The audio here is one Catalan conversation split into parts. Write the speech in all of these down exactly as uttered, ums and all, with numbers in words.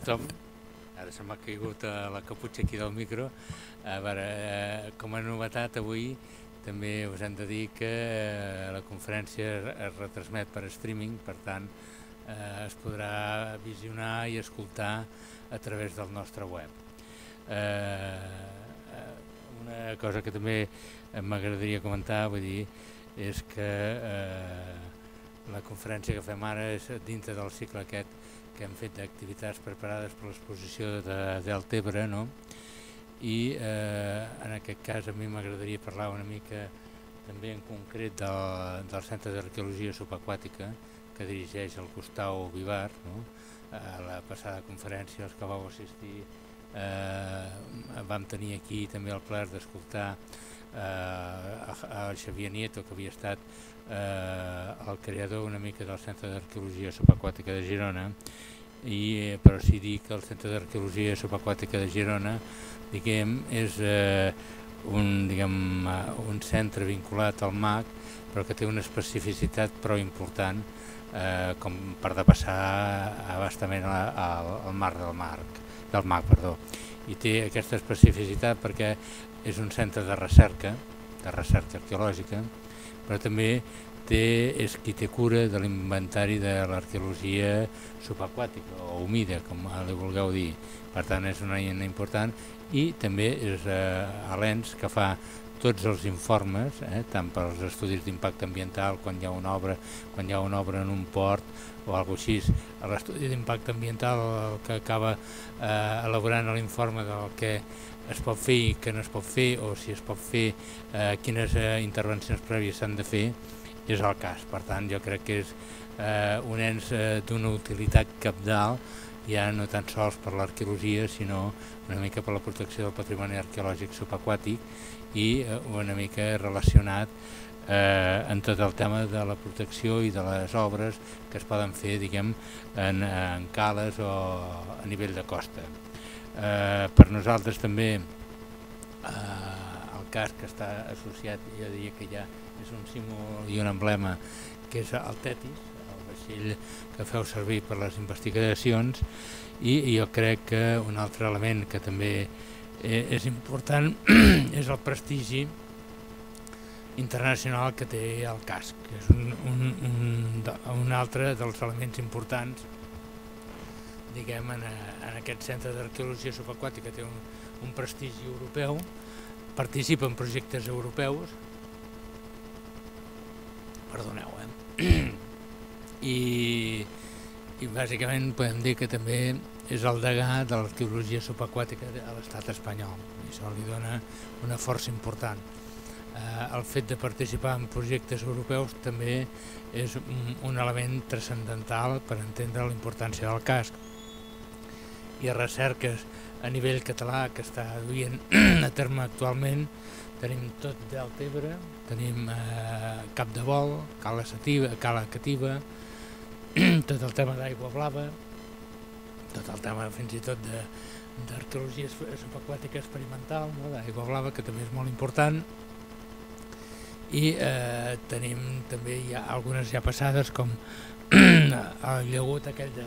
tothom. Ara se m'ha caigut la caputxa aquí del micro. A veure, eh, com a novetat avui també us hem de dir que eh, la conferència es retransmet per streaming, per tant eh, es podrà visionar i escoltar a través del nostre web. Eh, una cosa que també m'agradaria comentar, vull dir, és que eh, la conferència que fem ara és dintre del cicle aquest que hem fet d'activitats preparades per l'exposició de Deltebre, no? I eh, en aquest cas a mi m'agradaria parlar una mica també en concret del, del Centre d'Arqueologia Subaquàtica que dirigeix el Gustau Vivar, no? A la passada conferència, els que vau assistir, eh, vam tenir aquí també el plaer d'escoltar eh, el Xavier Nieto, que havia estat eh, el creador una mica del Centre d'Arqueologia Subaquàtica de Girona, i però sí dir que el Centre d'Arqueologia Subaquàtica de Girona, diguem, és eh, un, diguem, un centre vinculat al M A C, però que té una especificitat prou important eh, com per depassar abastament al, al mar del marc, del M A C, perdó. I té aquesta especificitat perquè és un centre de recerca, de recerca arqueològica, però també té, és qui té cura de l'inventari de l'arqueologia subaquàtica o humida, com li vulgueu dir. Per tant, és una eina important i també és eh, a l'ENS que fa tots els informes, eh, tant per als estudis d'impacte ambiental, quan hi ha una obra, quan hi ha una obra en un port o alguna cosa així, l'estudi d'impacte ambiental el que acaba eh, elaborant l'informe del que es pot fer i que no es pot fer, o si es pot fer, eh, quines eh, intervencions prèvies s'han de fer, és el cas. Per tant, jo crec que és eh, un ens eh, d'una utilitat cabdal, ja no tan sols per l'arqueologia, sinó una mica per la protecció del patrimoni arqueològic subaquàtic i eh, una mica relacionat eh, en tot el tema de la protecció i de les obres que es poden fer, diguem, en, en cales o a nivell de costa. Eh, per nosaltres també eh, el cas que està associat, jo diria que ja és un símbol i un emblema, que és el Tetis, el vaixell que feu servir per les investigacions, i jo crec que un altre element que també és important és el prestigi internacional que té el casc, que és un, un, un, un altre dels elements importants, diguem, en, en aquest centre d'arqueologia subaquàtica. Té un, un prestigi europeu, participa en projectes europeus, perdoneu, eh? I, i bàsicament podem dir que també és el degà de l'arqueologia subaquàtica a l'estat espanyol, i això li dona una força important. Eh, el fet de participar en projectes europeus també és un, un element transcendental per entendre la importància del casc. Hi ha recerques a nivell català que està duient a terme actualment. Tenim tot Deltebre, tenim eh, Capdevol, Cala Sativa, Cala Cativa, tot el tema d'aigua blava, tot el tema fins i tot d'arqueologia subaquàtica experimental, no? D'aigua blava, que també és molt important. I eh, tenim també ja algunes ja passades, com el llagut aquell de,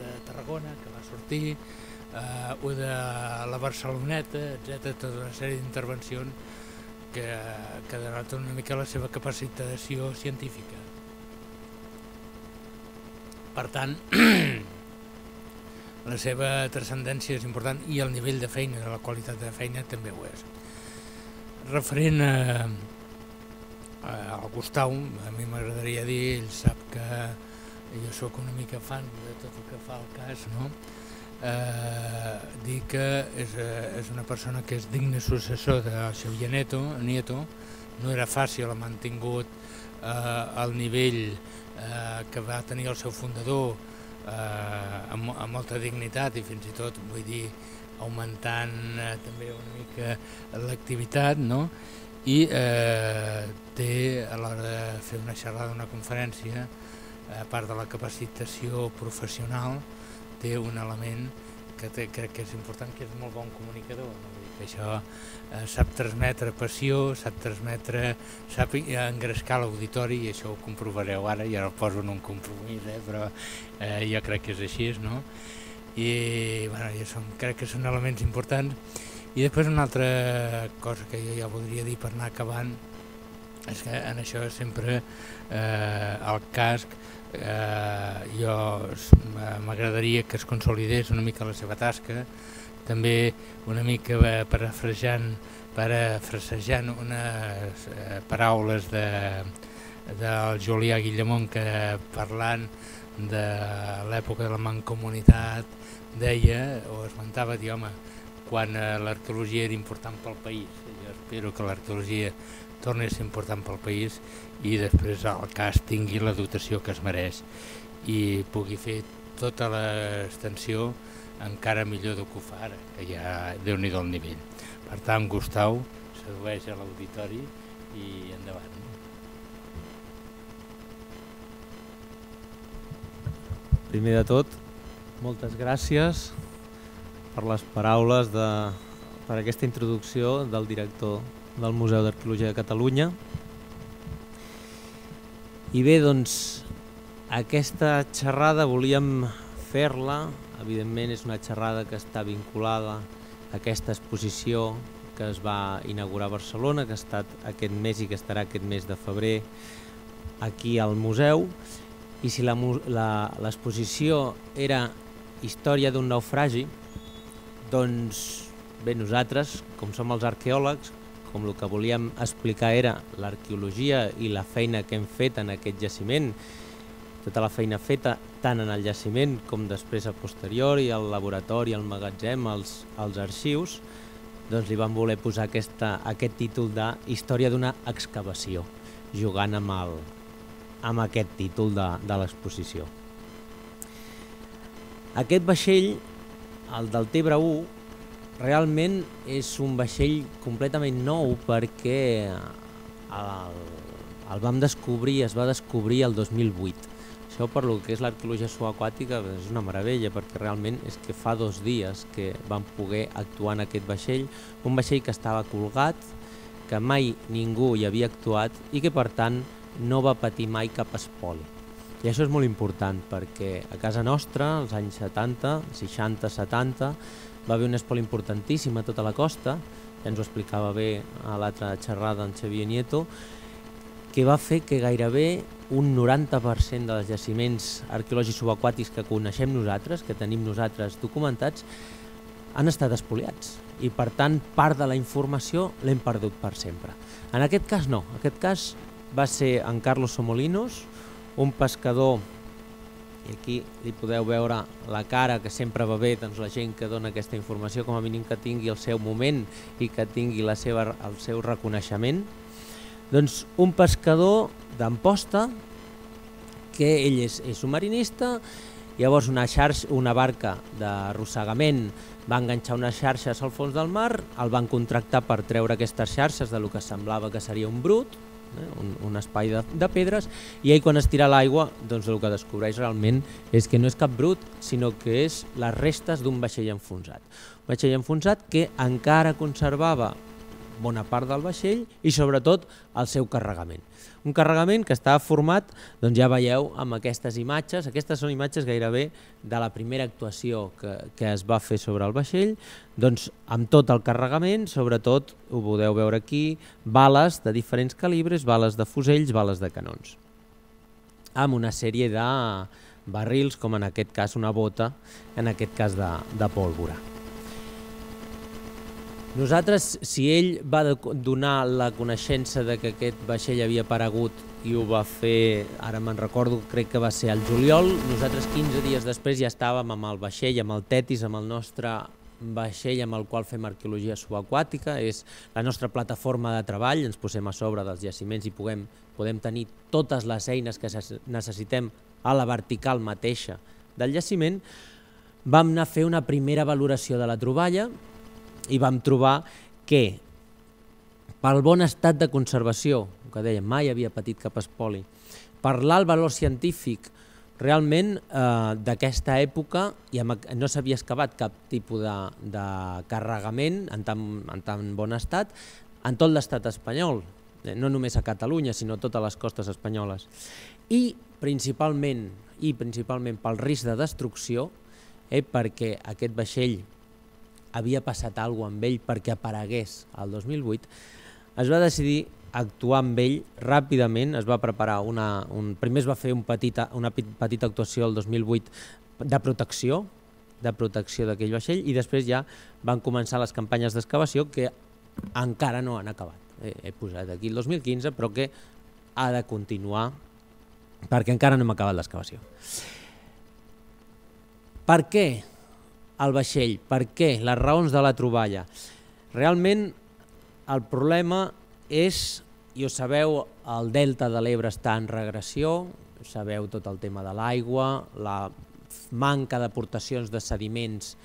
de Tarragona, que va sortir, eh, o de la Barceloneta, etcètera, tota una sèrie d'intervencions que, que denoten una mica la seva capacitació científica. Per tant, la seva transcendència és important i el nivell de feina, la qualitat de feina també ho és. Referent a, a, al Gustau, a mi m'agradaria dir, ell sap que jo sóc una mica fan de tot el que fa el cas, no? Eh, dir que és, és una persona que és digne successor de Xavier Nieto, Nieto. No era fàcil, ha mantingut eh, el nivell eh, que va tenir el seu fundador eh, amb, amb molta dignitat i fins i tot, vull dir, augmentant eh, també una mica l'activitat, no? I eh, té, a l'hora de fer una xerrada, una conferència, a part de la capacitació professional, té un element que té, crec que és important, que és molt bon comunicador, no? Que això eh, sap transmetre passió, sap transmetre, sap engrescar l'auditori, i això ho comprovareu ara, i ara ho poso en un compromís, eh, però eh, jo crec que és així, no? i bueno, jo som, crec que són elements importants. I després una altra cosa que jo ja voldria dir per anar acabant és que en això sempre eh, el casc eh, jo m'agradaria que es consolidés una mica la seva tasca, també una mica parafrasejant, parafrasejant unes eh, paraules de, del Julià Guillamont, que parlant de l'època de la mancomunitat deia o esmentava, dir, home, quan l'arqueologia era important pel país. Jo espero que l'arqueologia torni a ser important pel país i després el cas tingui la dotació que es mereix i pugui fer tota l'extensió encara millor del que ho fa ara, que ja déu-n'hi-do el nivell. Per tant, Gustau, sedueix a l'auditori i endavant. Primer de tot, moltes gràcies per les paraules, de, per aquesta introducció del director del Museu d'Arqueologia de Catalunya. I bé, doncs, aquesta xerrada volíem fer-la, evidentment és una xerrada que està vinculada a aquesta exposició que es va inaugurar a Barcelona, que ha estat aquest mes i que estarà aquest mes de febrer aquí al museu. I si l'exposició era història d'un naufragi, doncs bé, nosaltres, com som els arqueòlegs, com el que volíem explicar era l'arqueologia i la feina que hem fet en aquest jaciment, tota la feina feta tant en el jaciment com després a posteriori, al laboratori, al magatzem, als, als arxius, doncs li vam voler posar aquesta, aquest títol de Història d'una excavació, jugant amb, el, amb aquest títol de, de l'exposició. Aquest vaixell, el del Tebre u, realment és un vaixell completament nou perquè el, el vam descobrir, es va descobrir el dos mil vuit. Això per lo que és l'arqueologia subaquàtica és una meravella, perquè realment és que fa dos dies que vam poder actuar en aquest vaixell, un vaixell que estava colgat, que mai ningú hi havia actuat i que per tant no va patir mai cap espoli. I això és molt important perquè a casa nostra, als anys setanta, seixanta, setanta, va haver un espoli importantíssim a tota la costa, ja ens ho explicava bé a l'altra xerrada en Xavier Nieto, que va fer que gairebé un noranta per cent dels jaciments arqueològics subaquàtics que coneixem nosaltres, que tenim nosaltres documentats, han estat espoliats i per tant part de la informació l'hem perdut per sempre. En aquest cas no, en aquest cas va ser en Carlos Somolinos, un pescador, i aquí li podeu veure la cara, que sempre va bé, doncs la gent que dona aquesta informació, com a mínim que tingui el seu moment i que tingui la seva, el seu reconeixement. Doncs un pescador d'Amposta, que ell és, és un marinista, llavors una, xarxa, una barca d'arrossegament va enganxar unes xarxes al fons del mar, el van contractar per treure aquestes xarxes de lo que semblava que seria un brut, Un, un espai de, de pedres, i ell quan es tira a l'aigua doncs el que descobreix realment és que no és cap brut, sinó que és les restes d'un vaixell enfonsat. Un vaixell enfonsat que encara conservava bona part del vaixell i sobretot el seu carregament. Un carregament que estava format, doncs ja veieu amb aquestes imatges, aquestes són imatges gairebé de la primera actuació que, que es va fer sobre el vaixell, doncs amb tot el carregament, sobretot, ho podeu veure aquí, bales de diferents calibres, bales de fusells, bales de canons. Amb una sèrie de barrils, com en aquest cas una bota, en aquest cas de, de pólvora. Nosaltres, si ell va donar la coneixença de que aquest vaixell havia aparegut i ho va fer, ara me'n recordo, crec que va ser al juliol, nosaltres quinze dies després ja estàvem amb el vaixell, amb el Tetis, amb el nostre vaixell amb el qual fem arqueologia subaquàtica, és la nostra plataforma de treball, ens posem a sobre dels jaciments i podem, podem tenir totes les eines que necessitem a la vertical mateixa del jaciment. Vam anar a fer una primera valoració de la troballa i vam trobar que pel bon estat de conservació, que dèiem, mai havia patit cap espoli, per l'alt valor científic realment eh, d'aquesta època i amb, no s'havia excavat cap tipus de, de carregament en tan, en tan bon estat en tot l'estat espanyol, no només a Catalunya, sinó a totes les costes espanyoles. I principalment, i principalment pel risc de destrucció, eh, perquè aquest vaixell havia passat alguna cosa amb ell perquè aparegués el dos mil vuit, es va decidir actuar amb ell ràpidament, es va preparar una... Un, primer es va fer un petita, una petita actuació el dos mil vuit de protecció, de protecció d'aquell vaixell, i després ja van començar les campanyes d'excavació que encara no han acabat. He, he posat aquí el dos mil quinze, però que ha de continuar perquè encara no hem acabat l'excavació. Per què el vaixell? Per què? Les raons de la troballa. Realment el problema és, i ho sabeu, el delta de l'Ebre està en regressió, sabeu tot el tema de l'aigua, la manca d'aportacions de sediments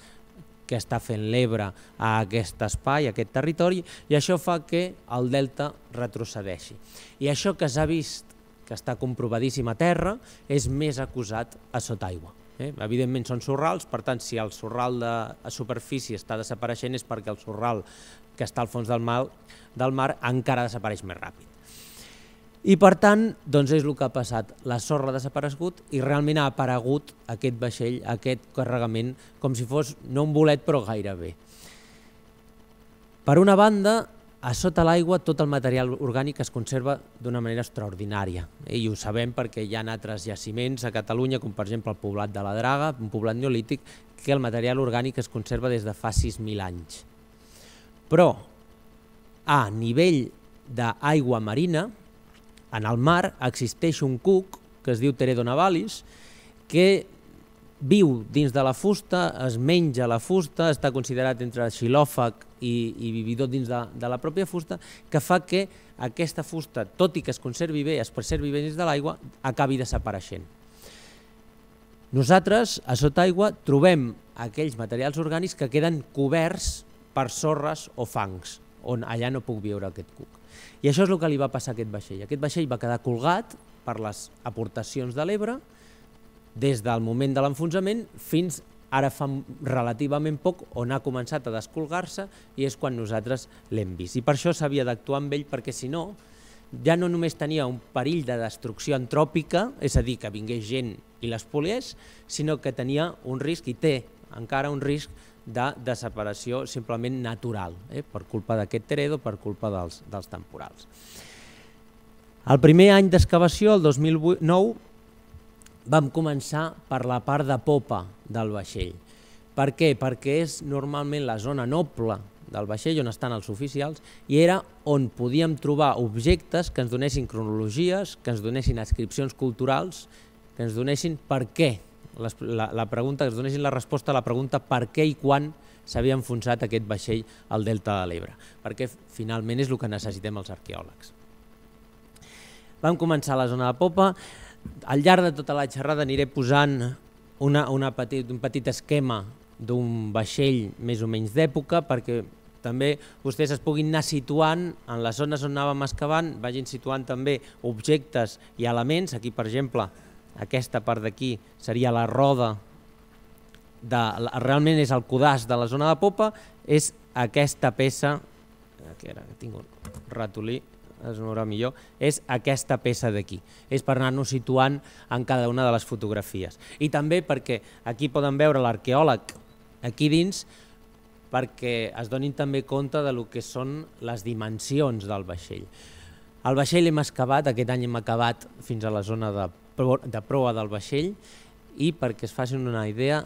que està fent l'Ebre a aquest espai, a aquest territori, i això fa que el delta retrocedeixi. I això que s'ha vist, que està comprovadíssim a terra, és més acusat a sota aigua. Eh? Evidentment són sorrals, per tant, si el sorral de superfície està desapareixent és perquè el sorral que està al fons del mar, del mar encara desapareix més ràpid. I per tant, doncs és el que ha passat. La sorra ha desaparegut i realment ha aparegut aquest vaixell, aquest carregament, com si fos no un bolet però gairebé. Per una banda, a sota l'aigua tot el material orgànic es conserva d'una manera extraordinària. I ho sabem perquè hi ha altres jaciments a Catalunya, com per exemple el poblat de la Draga, un poblat neolític, que el material orgànic es conserva des de fa sis mil anys. Però a nivell d'aigua marina, en el mar existeix un cuc que es diu Teredo navalis, que viu dins de la fusta, es menja la fusta, està considerat entre xilòfag i, i vividor dins de, de la pròpia fusta, que fa que aquesta fusta, tot i que es conservi bé, es preservi bé dins de l'aigua, acabi desapareixent. Nosaltres, a sota aigua, trobem aquells materials orgànics que queden coberts per sorres o fangs, on allà no puc viure aquest cuc. I això és el que li va passar a aquest vaixell. Aquest vaixell va quedar colgat per les aportacions de l'Ebre des del moment de l'enfonsament fins ara fa relativament poc, on ha començat a descolgar-se i és quan nosaltres l'hem vist. I per això s'havia d'actuar amb ell, perquè si no, ja no només tenia un perill de destrucció antròpica, és a dir, que vingués gent i l'espoliés, sinó que tenia un risc, i té encara un risc, de desaparició simplement natural, eh, per culpa d'aquest Teredo, per culpa dels, dels temporals. El primer any d'excavació, el dos mil nou, vam començar per la part de popa del vaixell. Per què? Perquè és normalment la zona noble del vaixell on estan els oficials i era on podíem trobar objectes que ens donessin cronologies, que ens donessin adscripcions culturals, que ens donessin per què. La, la pregunta, que es donessin la resposta a la pregunta per què i quan s'havia enfonsat aquest vaixell al delta de l'Ebre, perquè finalment és el que necessitem els arqueòlegs. Vam començar a la zona de popa. Al llarg de tota la xerrada aniré posant una, una petit, un petit esquema d'un vaixell més o menys d'època, perquè també vostès es puguin anar situant en les zones on anàvem excavant, vagin situant també objectes i elements. Aquí, per exemple, aquesta part d'aquí seria la roda, de, realment és el codàs de la zona de popa, és aquesta peça, aquí ara tinc un ratolí, es veurà millor, és aquesta peça d'aquí. És per anar-nos situant en cada una de les fotografies. I també perquè aquí poden veure l'arqueòleg aquí dins, perquè es donin també compte de lo que són les dimensions del vaixell. El vaixell hem excavat, aquest any hem acabat fins a la zona de de proa del vaixell i perquè es facin una idea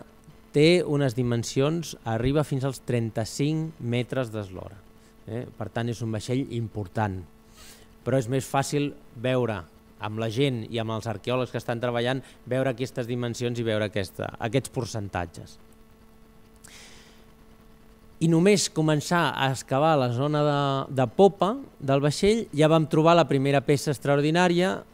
té unes dimensions, arriba fins als trenta-cinc metres d'eslora. Eh? Per tant és un vaixell important, però és més fàcil veure amb la gent i amb els arqueòlegs que estan treballant, veure aquestes dimensions i veure aquesta, aquests percentatges. I només començar a excavar la zona de, de popa del vaixell ja vam trobar la primera peça extraordinària,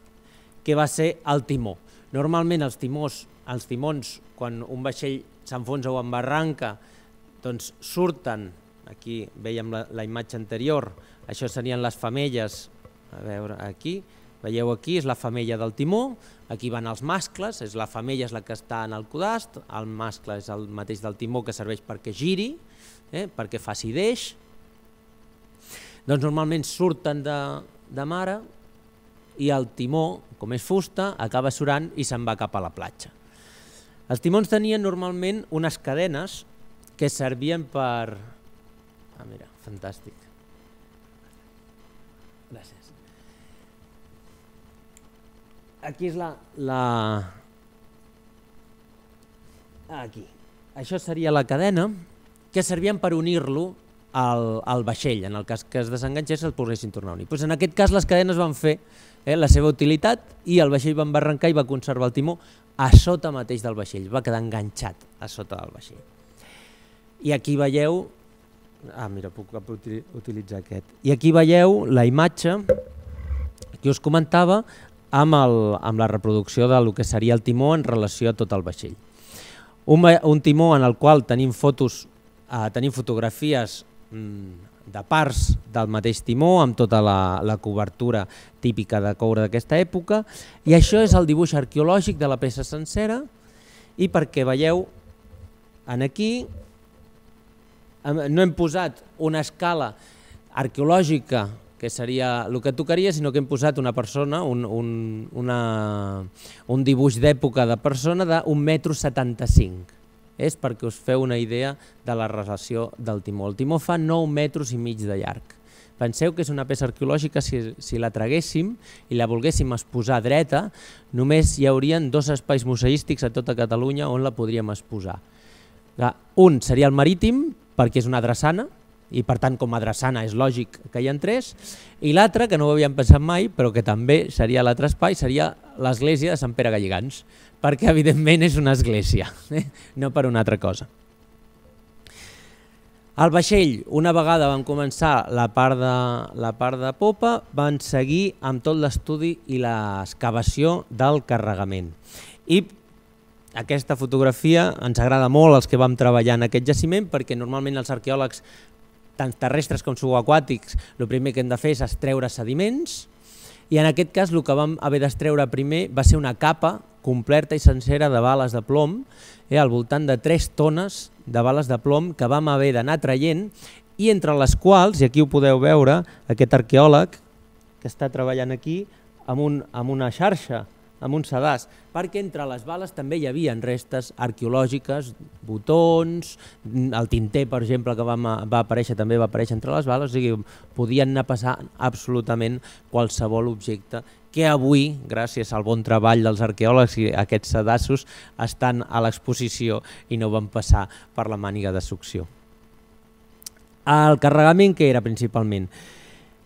que va ser el timó. Normalment els timons, els timons quan un vaixell s'enfonsa o embarranca, doncs surten, aquí veiem la, la imatge anterior, això serien les femelles, a veure, aquí, veieu aquí, és la femella del timó, aquí van els mascles, és la femella és la que està en el codast, el mascle és el mateix del timó que serveix perquè giri, eh, perquè faci deix. Doncs normalment surten de, de mare, i el timó, com és fusta, acaba surant i se'n va cap a la platja. Els timons tenien normalment unes cadenes que servien per... Ah, mira, fantàstic. Gràcies. Aquí és la... la... Aquí. Això seria la cadena que servien per unir-lo al, al vaixell. En el cas que es desenganxés el poguessin tornar a unir. Pues en aquest cas les cadenes van fer eh, la seva utilitat i el vaixell va embarrancar i va conservar el timó a sota mateix del vaixell. Va quedar enganxat a sota del vaixell. I aquí veieu... Ah, mira, puc utilitzar aquest. I aquí veieu la imatge que us comentava amb, el, amb la reproducció del que seria el timó en relació a tot el vaixell. Un, un timó en el qual tenim fotos, eh, tenim fotografies mm, de parts del mateix timó amb tota la, la cobertura típica de coure d'aquesta època, i això és el dibuix arqueològic de la peça sencera, i perquè veieu en aquí no hem posat una escala arqueològica que seria el que tocaria, sinó que hem posat una persona, un, un, una, un dibuix d'època de persona d'un metro setanta-cinc. És perquè us feu una idea de la relació del timó. El timó fa nou metres i mig de llarg. Penseu que és una peça arqueològica, si, si la traguéssim i la volguéssim exposar dreta, només hi haurien dos espais museístics a tota Catalunya on la podríem exposar. Un seria el marítim, perquè és una drassana, i per tant com a drassana és lògic que hi ha tres, i l'altre, que no ho havíem pensat mai, però que també seria l'altre espai, seria l'església de Sant Pere Galligants, perquè evidentment és una església, eh? No per una altra cosa. El vaixell, una vegada van començar la part de, la part de popa, van seguir amb tot l'estudi i l'excavació del carregament. I aquesta fotografia ens agrada molt als que vam treballar en aquest jaciment, perquè normalment els arqueòlegs, tant terrestres com subaquàtics, el primer que hem de fer és extreure sediments, i en aquest cas el que vam haver d'extreure primer va ser una capa completa i sencera de bales de plom, eh, al voltant de tres tones de bales de plom que vam haver d'anar traient, i entre les quals, i aquí ho podeu veure, aquest arqueòleg que està treballant aquí amb, un, amb una xarxa, amb un sedàs, perquè entre les bales també hi havia restes arqueològiques, botons, el tinter, per exemple, que va, va aparèixer també va aparèixer entre les bales, o sigui, podien anar a passar absolutament qualsevol objecte que avui, gràcies al bon treball dels arqueòlegs i aquests sedassos, estan a l'exposició i no van passar per la màniga de succió. El carregament que era principalment?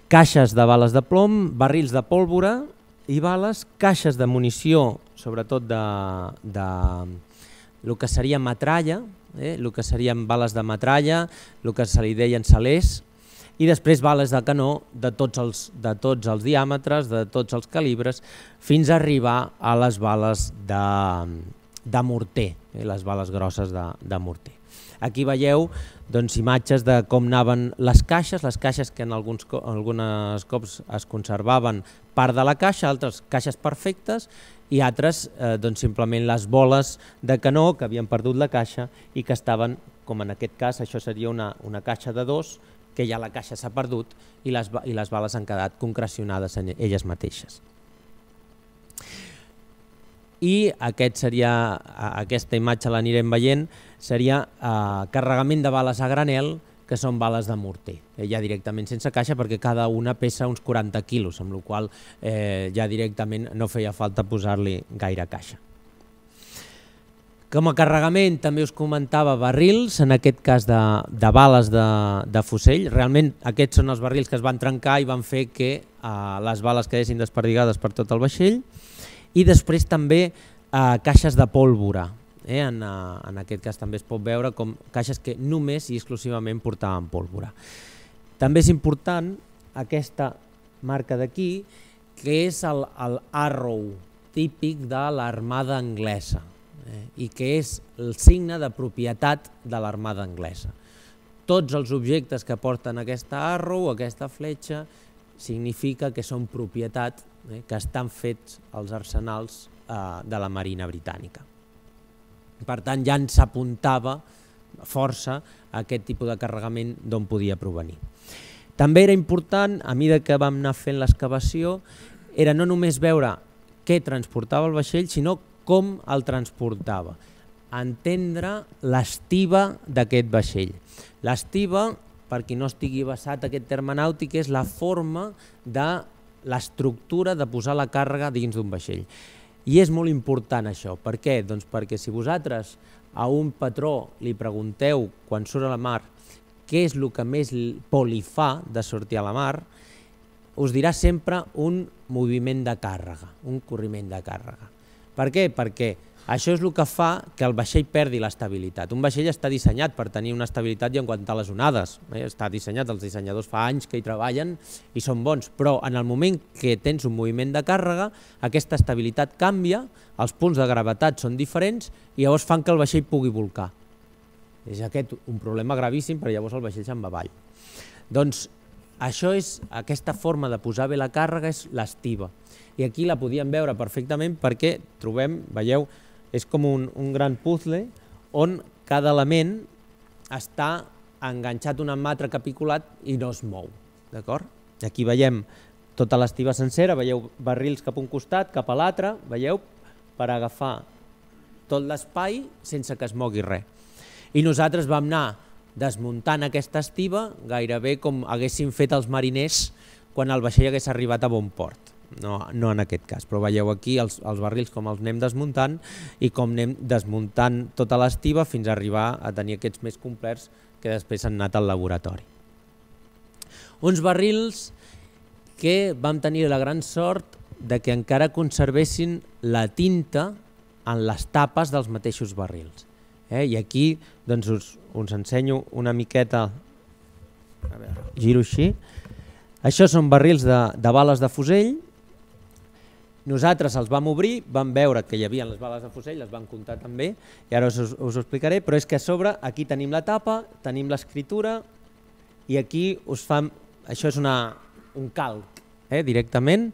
Caixes de bales de plom, barrils de pólvora i bales, caixes de munició, sobretot de, de el que seria metralla, eh, el que serien bales de metralla, el que se li deien salers, i després bales de canó de tots els, de tots els diàmetres, de tots els calibres, fins a arribar a les bales de, de morter, eh, les bales grosses de, de morter. Aquí veieu doncs, imatges de com anaven les caixes, les caixes que en alguns, algunes cops es conservaven part de la caixa, altres caixes perfectes i altres eh, doncs, simplement les boles de canó que havien perdut la caixa i que estaven, com en aquest cas, això seria una, una caixa de dos, que ja la caixa s'ha perdut i les, i les bales han quedat concrecionades en elles mateixes. I aquest seria, aquesta imatge l'anirem veient, seria eh, carregament de bales a granel, que són bales de morter, eh, ja directament sense caixa, perquè cada una pesa uns quaranta quilos, amb la qual cosa eh, ja directament no feia falta posar-li gaire caixa. Com a carregament també us comentava barrils, en aquest cas de, de bales de, de fusell. Realment aquests són els barrils que es van trencar i van fer que eh, les bales quedessin desperdigades per tot el vaixell. I després també eh, caixes de pólvora. Eh? En, uh, en aquest cas també es pot veure com caixes que només i exclusivament portaven pólvora. També és important aquesta marca d'aquí, que és el, el Arrow típic de l'armada anglesa, eh? i que és el signe de propietat de l'armada anglesa. Tots els objectes que porten aquesta Arrow, aquesta fletxa, significa que són propietat, eh? que estan fets als arsenals eh, de la Marina Britànica. Per tant, ja ens apuntava força a aquest tipus de carregament d'on podia provenir. També era important, a mesura que vam anar fent l'excavació, era no només veure què transportava el vaixell, sinó com el transportava. entendre l'estiva d'aquest vaixell. L'estiva, per qui no estigui basat aquest terme nàutic, és la forma de l'estructura de posar la càrrega dins d'un vaixell. I és molt important això. Per què? Doncs perquè si vosaltres a un patró li pregunteu quan surt a la mar què és el que més por li fa de sortir a la mar, us dirà sempre un moviment de càrrega, un corriment de càrrega. Per què? Perquè això és el que fa que el vaixell perdi l'estabilitat. Un vaixell està dissenyat per tenir una estabilitat i aguantar les onades. Està dissenyat, els dissenyadors fa anys que hi treballen i són bons, però en el moment que tens un moviment de càrrega, aquesta estabilitat canvia, els punts de gravetat són diferents i llavors fan que el vaixell pugui bolcar. És aquest un problema gravíssim, però llavors el vaixell se'n va avall. Doncs això és, aquesta forma de posar bé la càrrega és l'estiva. I aquí la podíem veure perfectament perquè trobem, veieu, és com un, un gran puzzle on cada element està enganxat un amb l'altre capiculat i no es mou. D'acord? Aquí veiem tota l'estiva sencera, veieu barrils cap a un costat, cap a l'altre, veieu, per agafar tot l'espai sense que es mogui res. I nosaltres vam anar desmuntant aquesta estiva gairebé com haguéssim fet els mariners quan el vaixell hagués arribat a bon port. No, no en aquest cas, però veieu aquí els, els barrils com els anem desmuntant i com anem desmuntant tota l'estiva fins a arribar a tenir aquests més complets que després han anat al laboratori. Uns barrils que vam tenir la gran sort de que encara conservessin la tinta en les tapes dels mateixos barrils. Eh? I aquí doncs, us, us ensenyo una miqueta, a veure, giro així. Això són barrils de, de bales de fusell. Nosaltres els vam obrir, vam veure que hi havia les bales de fusell, les vam comptar també, i ara us, us ho explicaré, però és que a sobre aquí tenim la tapa, tenim l'escriptura, i aquí us fan, això és una, un calc eh, directament,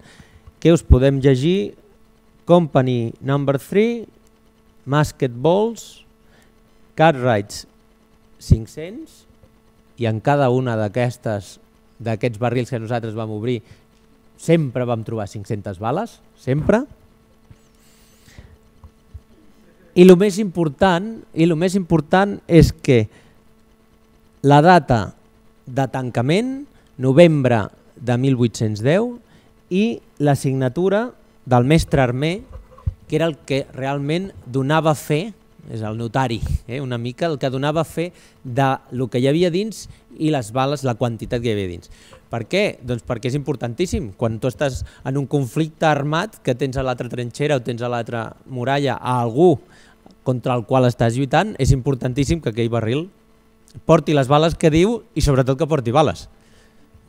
que us podem llegir Company number three, Musket Balls, Cartwrights cinc-cents, i en cada una d'aquestes d'aquests barrils que nosaltres vam obrir sempre vam trobar cinc-centes bales, sempre. I el més important, i el més important és que la data de tancament, novembre de mil vuit-cents deu, i la signatura del mestre Armer, que era el que realment donava fe, és el notari, eh, una mica el que donava fe del que hi havia dins i les bales, la quantitat que hi havia dins. Per què? Doncs perquè és importantíssim. Quan tu estàs en un conflicte armat, que tens a l'altra trinxera o tens a l'altra muralla a algú contra el qual estàs lluitant, és importantíssim que aquell barril porti les bales que diu i sobretot que porti bales.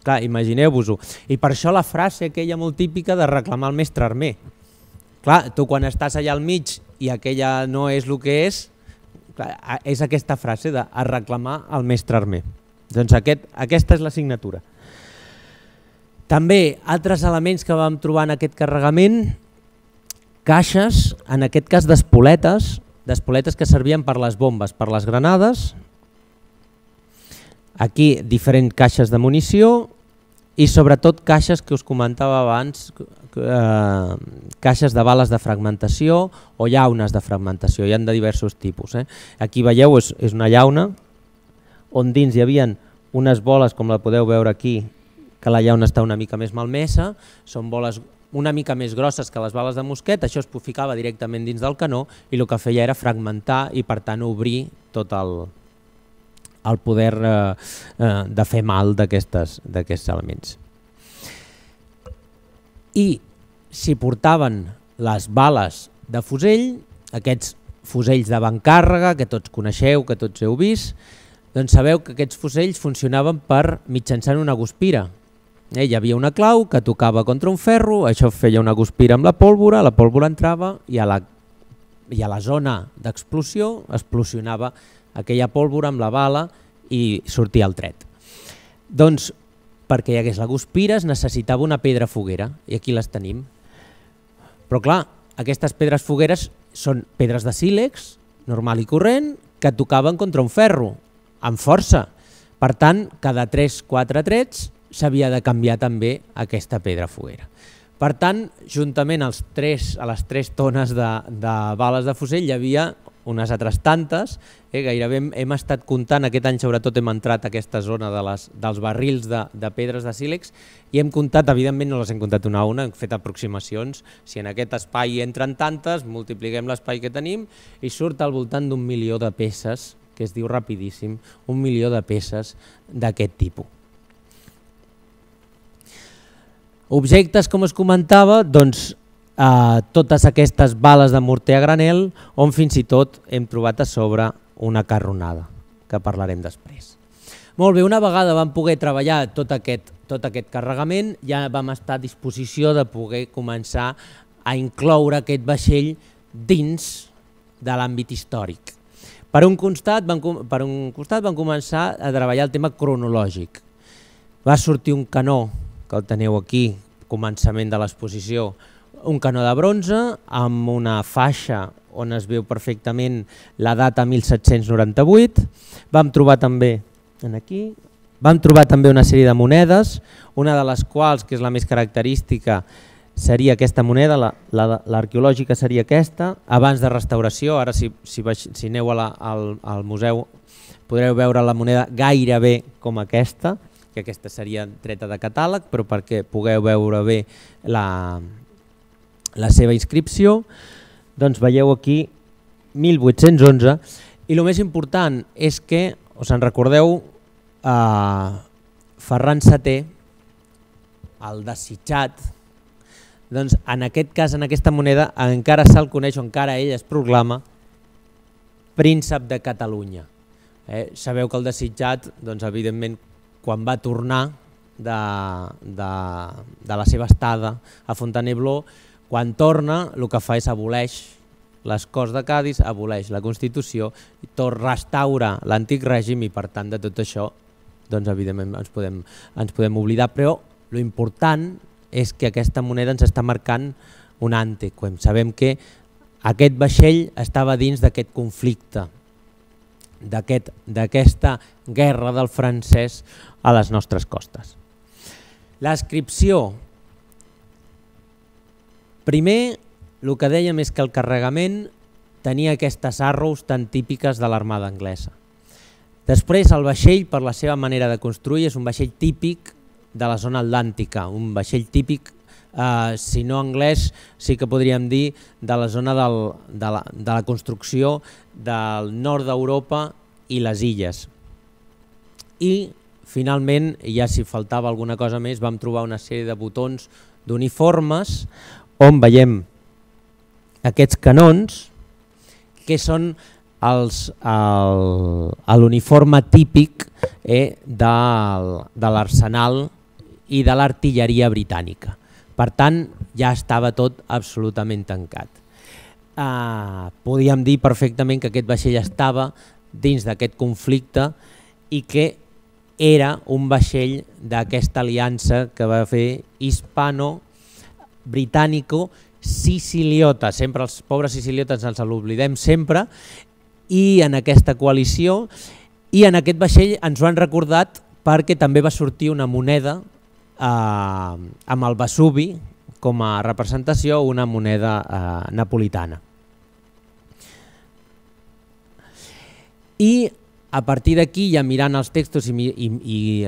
Clar, imagineu-vos-ho. I per això la frase aquella molt típica de reclamar el mestre Armer. Clar, tu quan estàs allà al mig i aquella no és el que és, clar, és aquesta frase de reclamar el mestre Armer. Doncs aquest, aquesta és la signatura. També altres elements que vam trobar en aquest carregament, caixes, en aquest cas d'espoletes, d'espoletes que servien per les bombes, per les granades. Aquí diferents caixes de munició i sobretot caixes que us comentava abans, eh, caixes de bales de fragmentació o llaunes de fragmentació, hi ha de diversos tipus. Eh? Aquí veieu, és, és una llauna on dins hi havia unes boles, com la podeu veure aquí, que la llauna està una mica més malmesa, són boles una mica més grosses que les bales de mosquet, això es ficava directament dins del canó i el que feia era fragmentar i per tant obrir tot el, el poder eh, eh, de fer mal d'aquests elements. I si portaven les bales de fusell, aquests fusells d'avantcàrrega que tots coneixeu, que tots heu vist, doncs sabeu que aquests fusells funcionaven per mitjançant una guspira. Eh, hi havia una clau que tocava contra un ferro, això feia una guspira amb la pólvora, la pólvora entrava i a la, i a la zona d'explosió explosionava aquella pólvora amb la bala i sortia el tret. Doncs perquè hi hagués la guspira es necessitava una pedra foguera i aquí les tenim. Però clar, aquestes pedres fogueres són pedres de sílex, normal i corrent, que tocaven contra un ferro, amb força. Per tant, cada tres quatre trets s'havia de canviar també aquesta pedra foguera. Per tant, juntament als tres, a les tres tones de, de bales de fusell hi havia unes altres tantes, eh, gairebé hem, hem estat comptant, aquest any sobretot hem entrat a aquesta zona de les, dels barrils de, de pedres de sílex i hem comptat, evidentment no les hem comptat una a una, hem fet aproximacions, si en aquest espai entren tantes, multipliquem l'espai que tenim i surt al voltant d'un milió de peces, que es diu rapidíssim, un milió de peces d'aquest tipus. Objectes, com us comentava, doncs Uh, totes aquestes bales de morter a granel on fins i tot hem trobat a sobre una carronada, que parlarem després. Molt bé, una vegada vam poder treballar tot aquest, tot aquest carregament, ja vam estar a disposició de poder començar a incloure aquest vaixell dins de l'àmbit històric. Per un costat van, per un costat van començar a treballar el tema cronològic. Va sortir un canó, que el teniu aquí, començament de l'exposició, un canó de bronze amb una faixa on es veu perfectament la data mil set-cents noranta-vuit. Vam trobar també aquí, vam trobar també una sèrie de monedes, una de les quals, que és la més característica, seria aquesta moneda, l'arqueològica seria aquesta, abans de restauració. Ara si, si, si aneu a la, al, al museu podreu veure la moneda gairebé com aquesta, que aquesta seria treta de catàleg, però perquè pugueu veure bé la... la seva inscripció, doncs veieu aquí mil vuit-cents onze i el més important és que, us en recordeu, eh, Ferran setè, el desitjat, doncs en aquest cas, en aquesta moneda, encara se'l coneix o encara ell es proclama príncep de Catalunya. Eh, sabeu que el desitjat, doncs evidentment, quan va tornar de, de, de la seva estada a Fontainebleau, quan torna, el que fa és aboleix les Corts de Cadis, aboleix la Constitució, restaura l'antic règim i per tant de tot això doncs evidentment ens podem, ens podem oblidar, però l'important és que aquesta moneda ens està marcant un antequem. Sabem que aquest vaixell estava dins d'aquest conflicte, d'aquesta guerra del francès a les nostres costes. L'inscripció. Primer, el que dèiem és que el carregament tenia aquestes arrows tan típiques de l'armada anglesa. Després, el vaixell, per la seva manera de construir, és un vaixell típic de la zona atlàntica, un vaixell típic, eh, si no anglès, sí que podríem dir de la zona del, de, la, de la construcció del nord d'Europa i les illes. I, finalment, ja si faltava alguna cosa més, vam trobar una sèrie de botons d'uniformes on veiem aquests canons que són l'uniforme típic eh, de, de l'arsenal i de l'artilleria britànica. Per tant, ja estava tot absolutament tancat. Eh, podíem dir perfectament que aquest vaixell estava dins d'aquest conflicte i que era un vaixell d'aquesta aliança que va fer hispano-britànico-siciliota. Sempre els pobres siciliotes ens l'oblidem sempre, i en aquesta coalició, i en aquest vaixell ens ho han recordat perquè també va sortir una moneda eh, amb el Vesuvi com a representació, una moneda eh, napolitana. I a partir d'aquí, ja mirant els textos i, i, i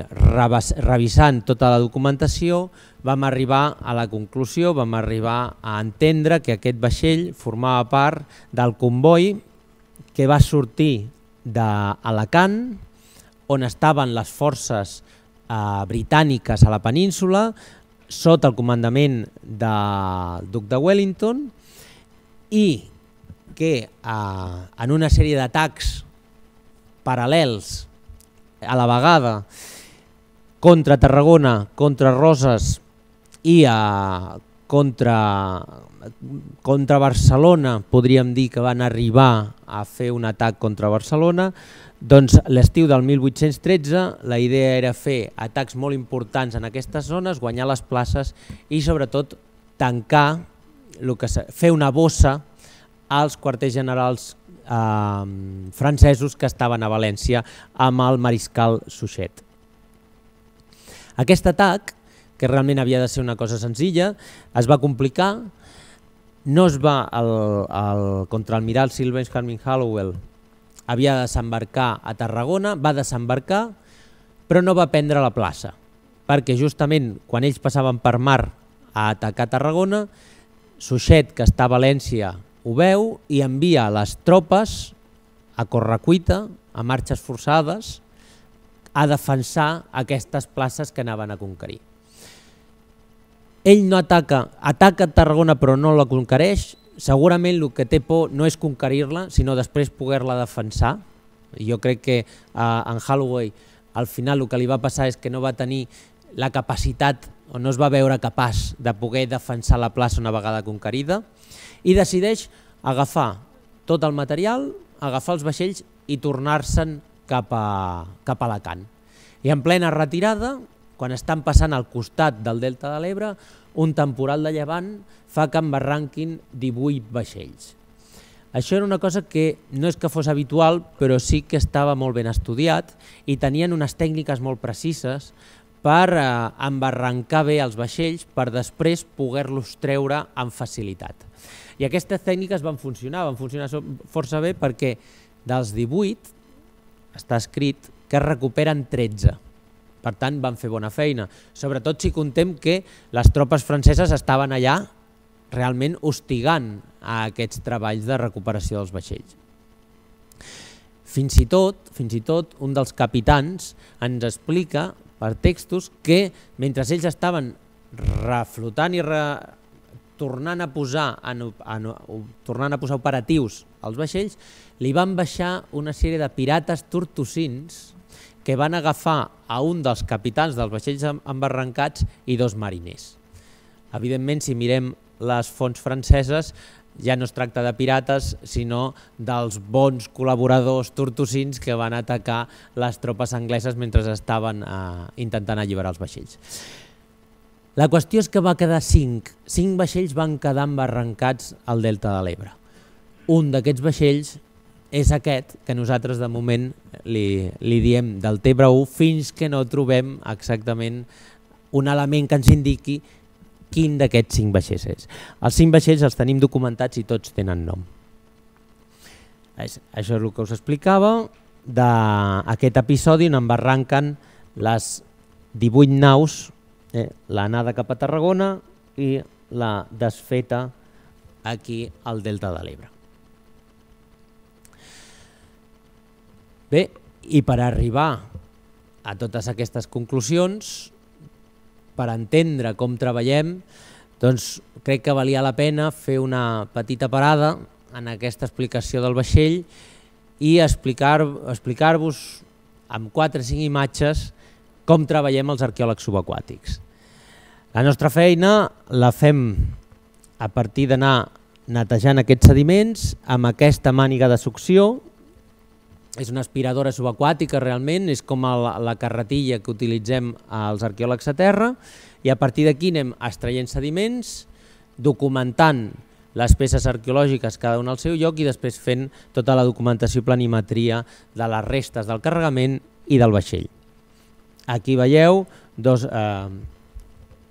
revisant tota la documentació, vam arribar a la conclusió, vam arribar a entendre que aquest vaixell formava part del comboi que va sortir d'Alacant, on estaven les forces eh, britàniques a la península, sota el comandament del duc de Wellington, i que eh, en una sèrie d'atacs paral·lels a la vegada contra Tarragona, contra Roses i a, contra, contra Barcelona, podríem dir que van arribar a fer un atac contra Barcelona, doncs l'estiu del mil vuit-cents tretze la idea era fer atacs molt importants en aquestes zones, guanyar les places i sobretot tancar, el que, fer una bossa als quarters generals Eh, francesos que estaven a València amb el mariscal Suchet. Aquest atac, que realment havia de ser una cosa senzilla, es va complicar no es va, el, el contraalmiral Sylvain Harbin-Hallowell havia de desembarcar a Tarragona, va desembarcar, però no va prendre la plaça, perquè justament quan ells passaven per mar a atacar Tarragona, Suchet, que està a València, ho veu i envia les tropes a correcuita, a marxes forçades, a defensar aquestes places que anaven a conquerir. Ell no ataca, ataca Tarragona però no la conquereix, segurament el que té por no és conquerir-la, sinó després poder-la defensar. Jo crec que en Holloway al final el que li va passar és que no va tenir la capacitat o no es va veure capaç de poder defensar la plaça una vegada conquerida i decideix agafar tot el material, agafar els vaixells i tornar-se'n cap a, cap a Alacant. I en plena retirada, quan estan passant al costat del Delta de l'Ebre, un temporal de llevant fa que embarranquin divuit vaixells. Això era una cosa que no és que fos habitual, però sí que estava molt ben estudiat i tenien unes tècniques molt precises per eh, embarrancar bé els vaixells per després poder-los treure amb facilitat. I aquestes tècniques van funcionar, van funcionar força bé perquè dels divuit està escrit que es recuperen tretze. Per tant, van fer bona feina, sobretot si contem que les tropes franceses estaven allà realment hostigant a aquests treballs de recuperació dels vaixells. Fins i tot, fins i tot un dels capitans ens explica per textos que mentre ells estaven reflotant i re... tornant a posar en, en, tornant a posar operatius als vaixells, li van baixar una sèrie de pirates tortosins que van agafar a un dels capitans dels vaixells embarrancats i dos mariners. Evidentment, si mirem les fonts franceses, ja no es tracta de pirates, sinó dels bons col·laboradors tortosins que van atacar les tropes angleses mentre estaven eh, intentant alliberar els vaixells. La qüestió és que va quedar cinc. Cinc vaixells van quedar embarrancats al Delta de l'Ebre. Un d'aquests vaixells és aquest que nosaltres de moment li, li diem del Tebre u fins que no trobem exactament un element que ens indiqui quin d'aquests cinc vaixells és. Els cinc vaixells els tenim documentats i tots tenen nom. Això és el que us explicava d'aquest episodi on embarranquen les divuit naus, eh, l'anada cap a Tarragona i la desfeta aquí al Delta de l'Ebre. Bé, i per arribar a totes aquestes conclusions, per entendre com treballem, doncs crec que valia la pena fer una petita parada en aquesta explicació del vaixell i explicar-vos explicar amb quatre o cinc imatges com treballem els arqueòlegs subaquàtics. La nostra feina la fem a partir d'anar netejant aquests sediments amb aquesta màniga de succió. És una aspiradora subaquàtica realment, és com la, la carretilla que utilitzem els arqueòlegs a terra i a partir d'aquí anem extraient sediments, documentant les peces arqueològiques cada una al seu lloc i després fent tota la documentació i planimetria de les restes del carregament i del vaixell. Aquí veieu, dos, eh,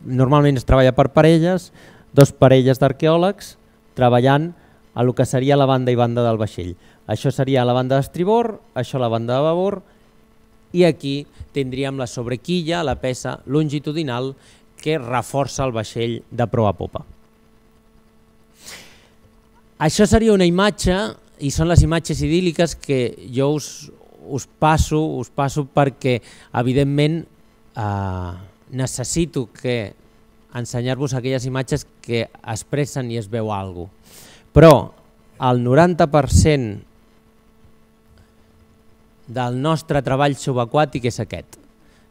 normalment es treballa per parelles, dos parelles d'arqueòlegs treballant a lo que seria la banda i banda del vaixell. Això seria la banda d'estribord, això la banda de babord i aquí tindríem la sobrequilla, la peça longitudinal que reforça el vaixell de proa a popa. Això seria una imatge i són les imatges idíl·liques que jo us, us, passo, us passo perquè evidentment eh, necessito que ensenyar-vos aquelles imatges que expressen i es veu alguna cosa. Però el noranta per cent del nostre treball subaquàtic és aquest.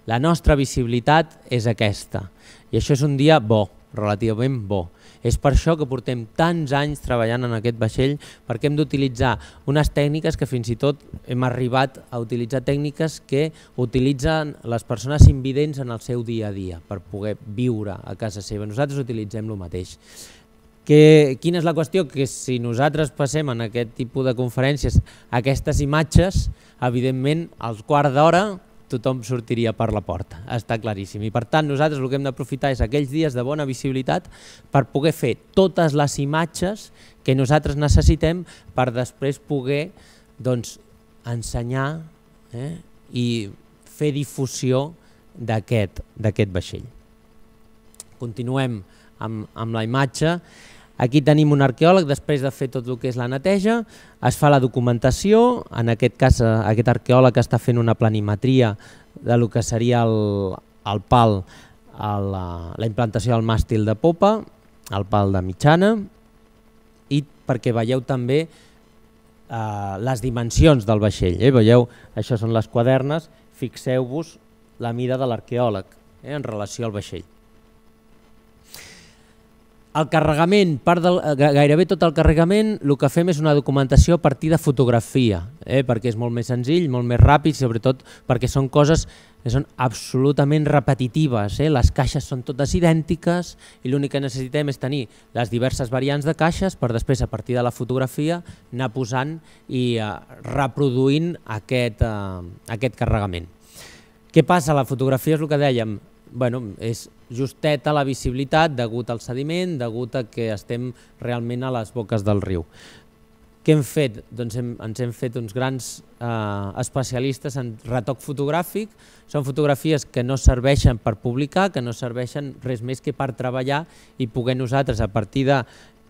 La nostra visibilitat és aquesta i això és un dia bo, relativament bo. És per això que portem tants anys treballant en aquest vaixell perquè hem d'utilitzar unes tècniques que fins i tot hem arribat a utilitzar tècniques que utilitzen les persones invidents en el seu dia a dia per poder viure a casa seva. Nosaltres utilitzem el mateix. Que, quina és la qüestió? Que si nosaltres passem en aquest tipus de conferències aquestes imatges, evidentment al quart d'hora tothom sortiria per la porta, està claríssim. I per tant nosaltres el que hem d'aprofitar és aquells dies de bona visibilitat per poder fer totes les imatges que nosaltres necessitem per després poder doncs, ensenyar eh, i fer difusió d'aquest vaixell. Continuem amb, amb la imatge. Aquí tenim un arqueòleg, després de fer tot el que és la neteja, es fa la documentació, en aquest cas aquest arqueòleg està fent una planimetria de lo que seria el, el pal, el, la implantació del màstil de popa, el pal de mitjana, i perquè veieu també eh, les dimensions del vaixell. Eh? Veieu, això són les quadernes, fixeu-vos la mida de l'arqueòleg eh, en relació al vaixell. El carregament, part del, gairebé tot el carregament, el que fem és una documentació a partir de fotografia, eh, perquè és molt més senzill, molt més ràpid, sobretot perquè són coses que són absolutament repetitives. Eh? Les caixes són totes idèntiques i l'únic que necessitem és tenir les diverses variants de caixes per després, a partir de la fotografia, anar posant i eh, reproduint aquest, eh, aquest carregament. Què passa? La fotografia és el que dèiem, bueno, és justeta la visibilitat degut al sediment, degut a que estem realment a les boques del riu. Què hem fet? Doncs hem, ens hem fet uns grans eh, especialistes en retoc fotogràfic. Són fotografies que no serveixen per publicar, que no serveixen res més que per treballar i poder nosaltres, a partir de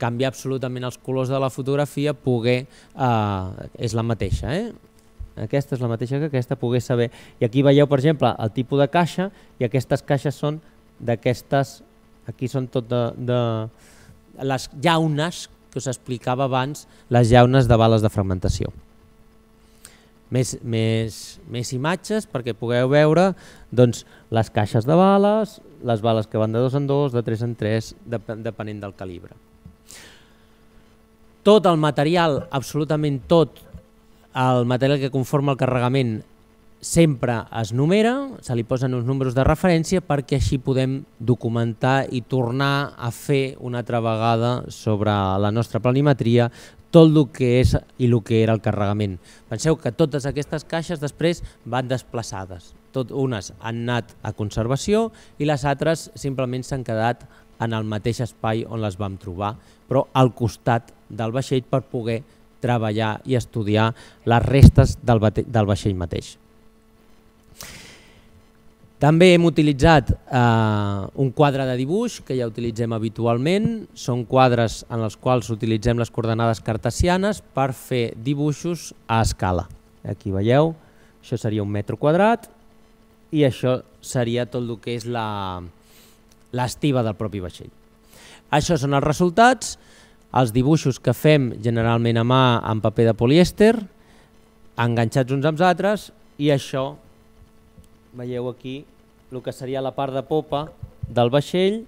canviar absolutament els colors de la fotografia, poder, eh, és la mateixa, eh? Aquesta és la mateixa que aquesta, poder saber. I aquí veieu, per exemple, el tipus de caixa, i aquestes caixes són d'aquestes, aquí són tot de, de les llaunes que us explicava abans, les llaunes de bales de fragmentació. Més, més, més imatges perquè pugueu veure doncs, les caixes de bales, les bales que van de dos en dos, de tres en tres, depenent del calibre. Tot el material, absolutament tot, el material que conforma el carregament sempre es numera, se li posen uns números de referència perquè així podem documentar i tornar a fer una altra vegada sobre la nostra planimetria tot el que és i el que era el carregament. Penseu que totes aquestes caixes després van desplaçades. Tot, unes han anat a conservació i les altres simplement s'han quedat en el mateix espai on les vam trobar, però al costat del vaixell per poder treballar i estudiar les restes del, del vaixell mateix. També hem utilitzat eh, un quadre de dibuix que ja utilitzem habitualment. Són quadres en els quals utilitzem les coordenades cartesianes per fer dibuixos a escala. Aquí veieu, això seria un metre quadrat i això seria tot el que és l'estiva del propi vaixell. Això són els resultats. Els dibuixos que fem generalment a mà en paper de polièster, enganxats uns amb els altres, i això, veieu aquí, el que seria la part de popa del vaixell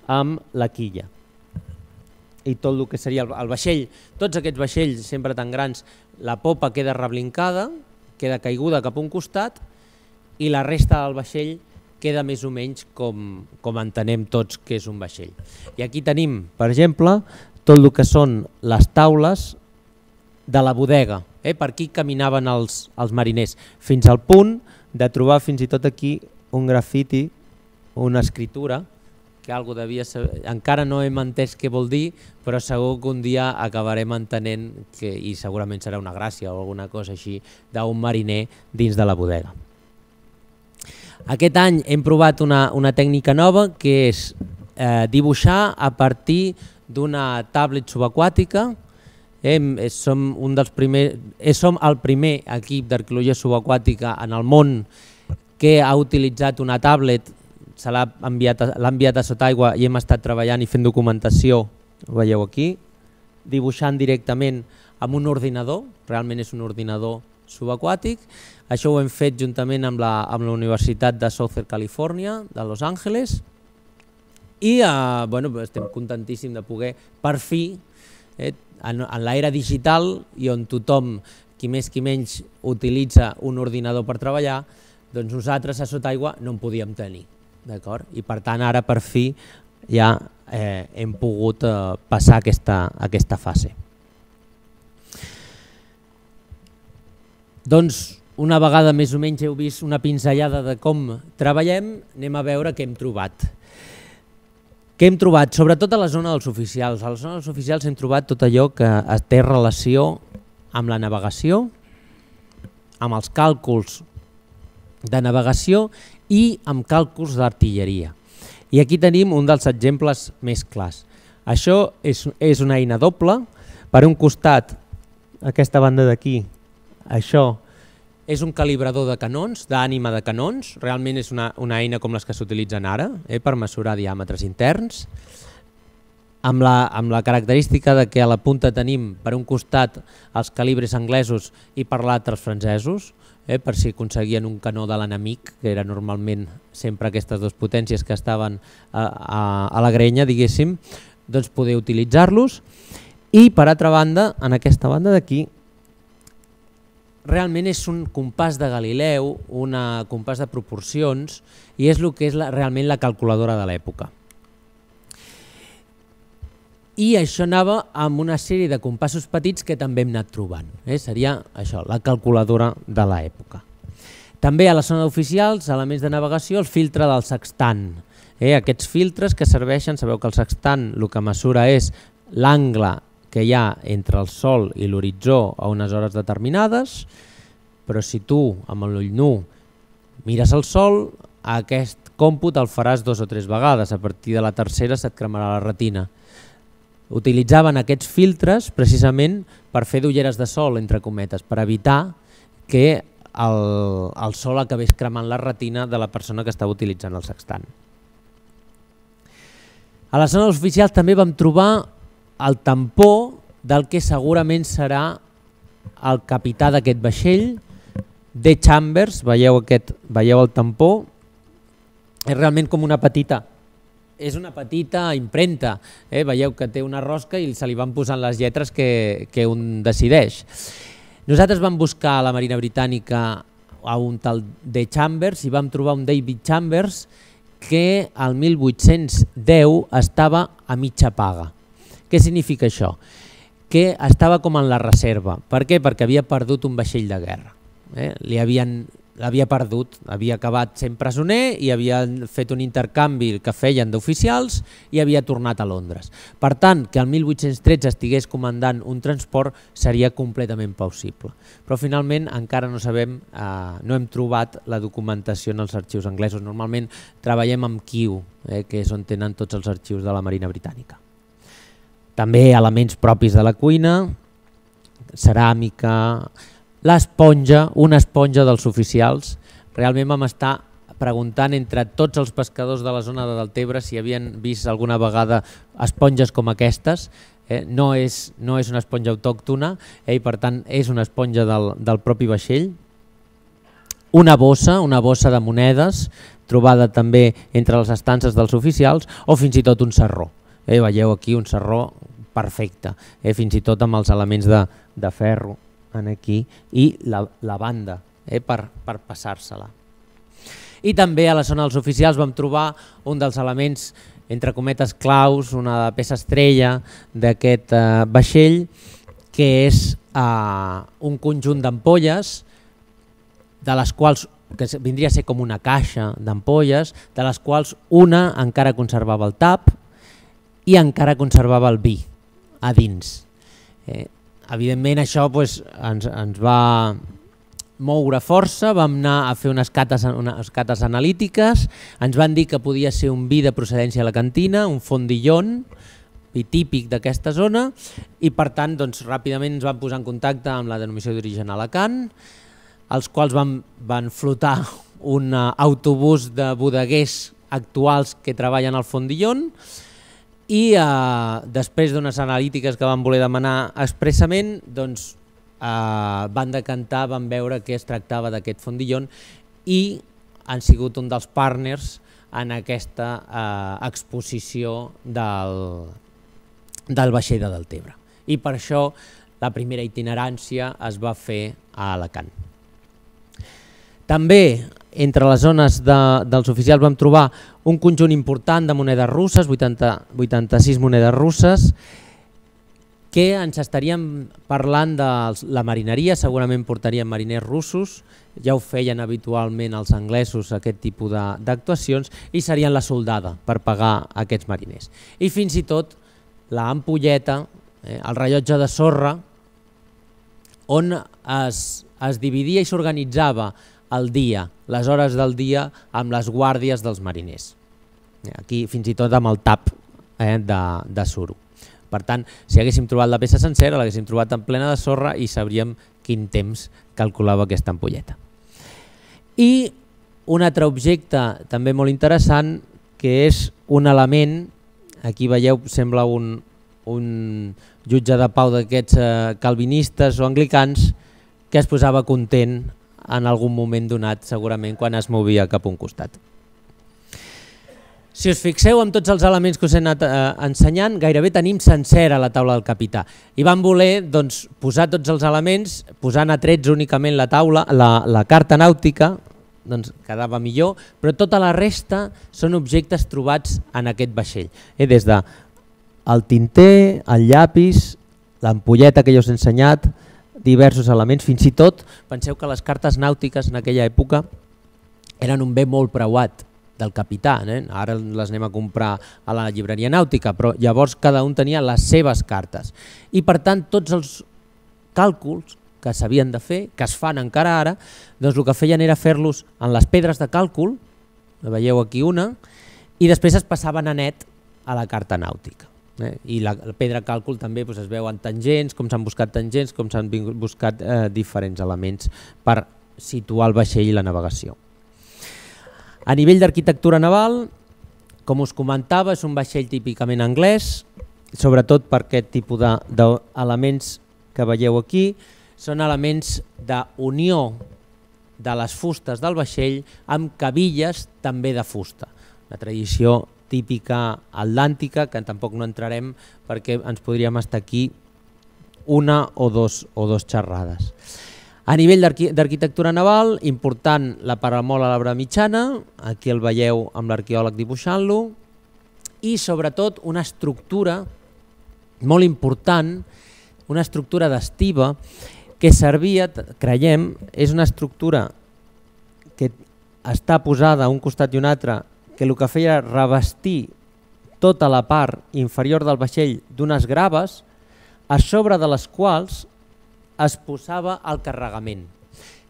amb la quilla. I tot el que seria el vaixell, tots aquests vaixells sempre tan grans, la popa queda reblincada, queda caiguda cap a un costat, i la resta del vaixell queda més o menys com, com entenem tots que és un vaixell. I aquí tenim, per exemple, tot el que són les taules de la bodega. Eh? Per aquí caminaven els, els mariners, fins al punt de trobar fins i tot aquí un grafiti, una escritura, que algú devia saber, encara no hem entès què vol dir, però segur que un dia acabarem entenent, que, i segurament serà una gràcia o alguna cosa així, d'un mariner dins de la bodega. Aquest any hem provat una, una tècnica nova que és eh, dibuixar a partir d'una tablet subaquàtica. Eh, som, un dels primers, eh, som el primer equip d'arqueologia subaquàtica en el món que ha utilitzat una tablet, se l'ha enviat, enviat a sota aigua i hem estat treballant i fent documentació, ho veieu aquí, dibuixant directament amb un ordinador, realment és un ordinador subaquàtic. Això ho hem fet juntament amb la, amb la Universitat de Southern California, de Los Angeles, i eh, bueno, estem contentíssims de poder, per fi, eh, en, en l'era digital i on tothom, qui més qui menys, utilitza un ordinador per treballar, doncs nosaltres a sota aigua no en podíem tenir. I per tant ara per fi ja eh, hem pogut eh, passar aquesta, aquesta fase. Doncs una vegada més o menys heu vist una pinzellada de com treballem, anem a veure què hem trobat. Què hem trobat? Sobretot a la zona dels oficials. A la zona dels oficials hem trobat tot allò que té relació amb la navegació, amb els càlculs de navegació i amb càlculs d'artilleria. I aquí tenim un dels exemples més clars. Això és, és una eina doble. Per un costat, aquesta banda d'aquí, això és un calibrador de canons, d'ànima de canons. Realment és una, una eina com les que s'utilitzen ara, eh, per mesurar diàmetres interns, amb la, amb la característica de que a la punta tenim per un costat els calibres anglesos i per l'altre els francesos, eh, per si aconseguien un canó de l'enemic, que era normalment sempre aquestes dues potències que estaven a, a, a la grenya, diguéssim, doncs poder utilitzar-los. I per altra banda, en aquesta banda d'aquí, realment és un compàs de Galileu, un compàs de proporcions, i és el que és la, realment la calculadora de l'època. I això anava amb una sèrie de compassos petits que també hem anat trobant. Eh? Seria això, la calculadora de l'època. També a la zona d'oficials, elements de navegació, el filtre del sextant. Eh? Aquests filtres que serveixen, sabeu que el sextant el que mesura és l'angle que hi ha entre el sol i l'horitzó a unes hores determinades, però si tu amb l'ull nu mires el sol, aquest còmput el faràs dos o tres vegades, a partir de la tercera se't cremarà la retina. Utilitzaven aquests filtres precisament per fer d'ulleres de sol, entre cometes, per evitar que el, el sol acabés cremant la retina de la persona que estava utilitzant el sextant. A la zona oficial també vam trobar el tampó del que segurament serà el capità d'aquest vaixell, de Chambers, veieu, aquest, veieu el tampó, és realment com una petita, és una petita impremta, eh? Veieu que té una rosca i se li van posant les lletres que, que un decideix. Nosaltres vam buscar a la Marina Britànica a un tal de Chambers i vam trobar un David Chambers que al mil vuit-cents deu estava a mitja paga. Què significa això? Que estava com en la reserva. Per què? Perquè havia perdut un vaixell de guerra. Eh? Li havien, l'havia perdut, havia acabat sent presoner i havien fet un intercanvi que feien d'oficials i havia tornat a Londres. Per tant, que el mil vuit-cents tretze estigués comandant un transport seria completament possible. Però finalment encara no sabem, eh, no hem trobat la documentació en els arxius anglesos. Normalment treballem amb Kew, eh, que és on tenen tots els arxius de la Marina Britànica. També elements propis de la cuina, ceràmica, l'esponja, una esponja dels oficials. Realment vam estar preguntant entre tots els pescadors de la zona de Deltebre si havien vist alguna vegada esponges com aquestes. Eh? No, és, no és una esponja autòctona, eh? I per tant és una esponja del, del propi vaixell. Una bossa, una bossa de monedes, trobada també entre les estances dels oficials, o fins i tot un sarró. Eh, veieu aquí un sarró perfecte, eh, fins i tot amb els elements de, de ferro en aquí i la, la banda eh, per, per passar-se-la. I també a la zona dels oficials vam trobar un dels elements, entre cometes, claus, una peça estrella d'aquest eh, vaixell, que és eh, un conjunt d'ampolles, de les quals que vindria a ser com una caixa d'ampolles, de les quals una encara conservava el tap, i encara conservava el vi a dins. Eh, evidentment això pues, ens, ens va moure força, vam anar a fer unes cates, unes cates analítiques, ens van dir que podia ser un vi de procedència alacantina, un fondillon, vi típic d'aquesta zona, i per tant doncs, ràpidament ens van posar en contacte amb la denominació d'origen Alacant, els quals van, van flotar un autobús de bodeguers actuals que treballen al fondillon, i eh, després d'unes analítiques que van voler demanar expressament, doncs, eh, van decantar, van veure que es tractava d'aquest fondillon i han sigut un dels partners en aquesta eh, exposició del, del vaixell de Deltebre. I per això la primera itinerància es va fer a Alacant. També entre les zones de, dels oficials vam trobar un conjunt important de monedes russes, vuitanta, vuitanta-sis monedes russes, que ens estaríem parlant de la marineria, segurament portarien mariners russos, ja ho feien habitualment els anglesos aquest tipus d'actuacions, i serien la soldada per pagar aquests mariners. I fins i tot la ampolleta, eh, el rellotge de sorra, on es, es dividia i s'organitzava el dia, les hores del dia, amb les guàrdies dels mariners. Aquí fins i tot amb el tap eh, de, de suro. Per tant, si haguéssim trobat la peça sencera, l'haguéssim trobat en plena de sorra i sabríem quin temps calculava aquesta ampolleta. I un altre objecte també molt interessant, que és un element, aquí veieu, sembla un, un jutge de pau d'aquests eh, calvinistes o anglicans, que es posava content en algun moment donat, segurament quan es movia cap a un costat. Si us fixeu en tots els elements que us he anat eh, ensenyant, gairebé tenim sencera la taula del capità. I vam voler doncs, posar tots els elements, posant a trets únicament la taula, la, la carta nàutica, doncs quedava millor, però tota la resta són objectes trobats en aquest vaixell. Eh, des de el tinter, el llapis, l'ampolleta que ja us he ensenyat, diversos elements, fins i tot, penseu que les cartes nàutiques en aquella època eren un bé molt preuat del capità, eh? Ara les anem a comprar a la llibreria nàutica, però llavors cada un tenia les seves cartes. I per tant tots els càlculs que s'havien de fer, que es fan encara ara, doncs el que feien era fer-los en les pedres de càlcul, veieu aquí una, i després es passaven a net a la carta nàutica. Eh? I la, la pedra càlcul també doncs, es veuen tangents, com s'han buscat tangents, com s'han buscat eh, diferents elements per situar el vaixell i la navegació. A nivell d'arquitectura naval, com us comentava, és un vaixell típicament anglès, sobretot per aquest tipus d'elements que veieu aquí, són elements d'unió de les fustes del vaixell amb cabilles també de fusta. La tradició típica atlàntica, que tampoc no entrarem perquè ens podríem estar aquí una o dos, o dos xerrades. A nivell d'arquitectura naval, important la paramola a l'arbre mitjana, aquí el veieu amb l'arqueòleg dibuixant-lo, i sobretot una estructura molt important, una estructura d'estiba que servia, creiem, és una estructura que està posada a un costat i un altre, que el que feia era revestir tota la part inferior del vaixell d'unes graves, a sobre de les quals es posava el carregament.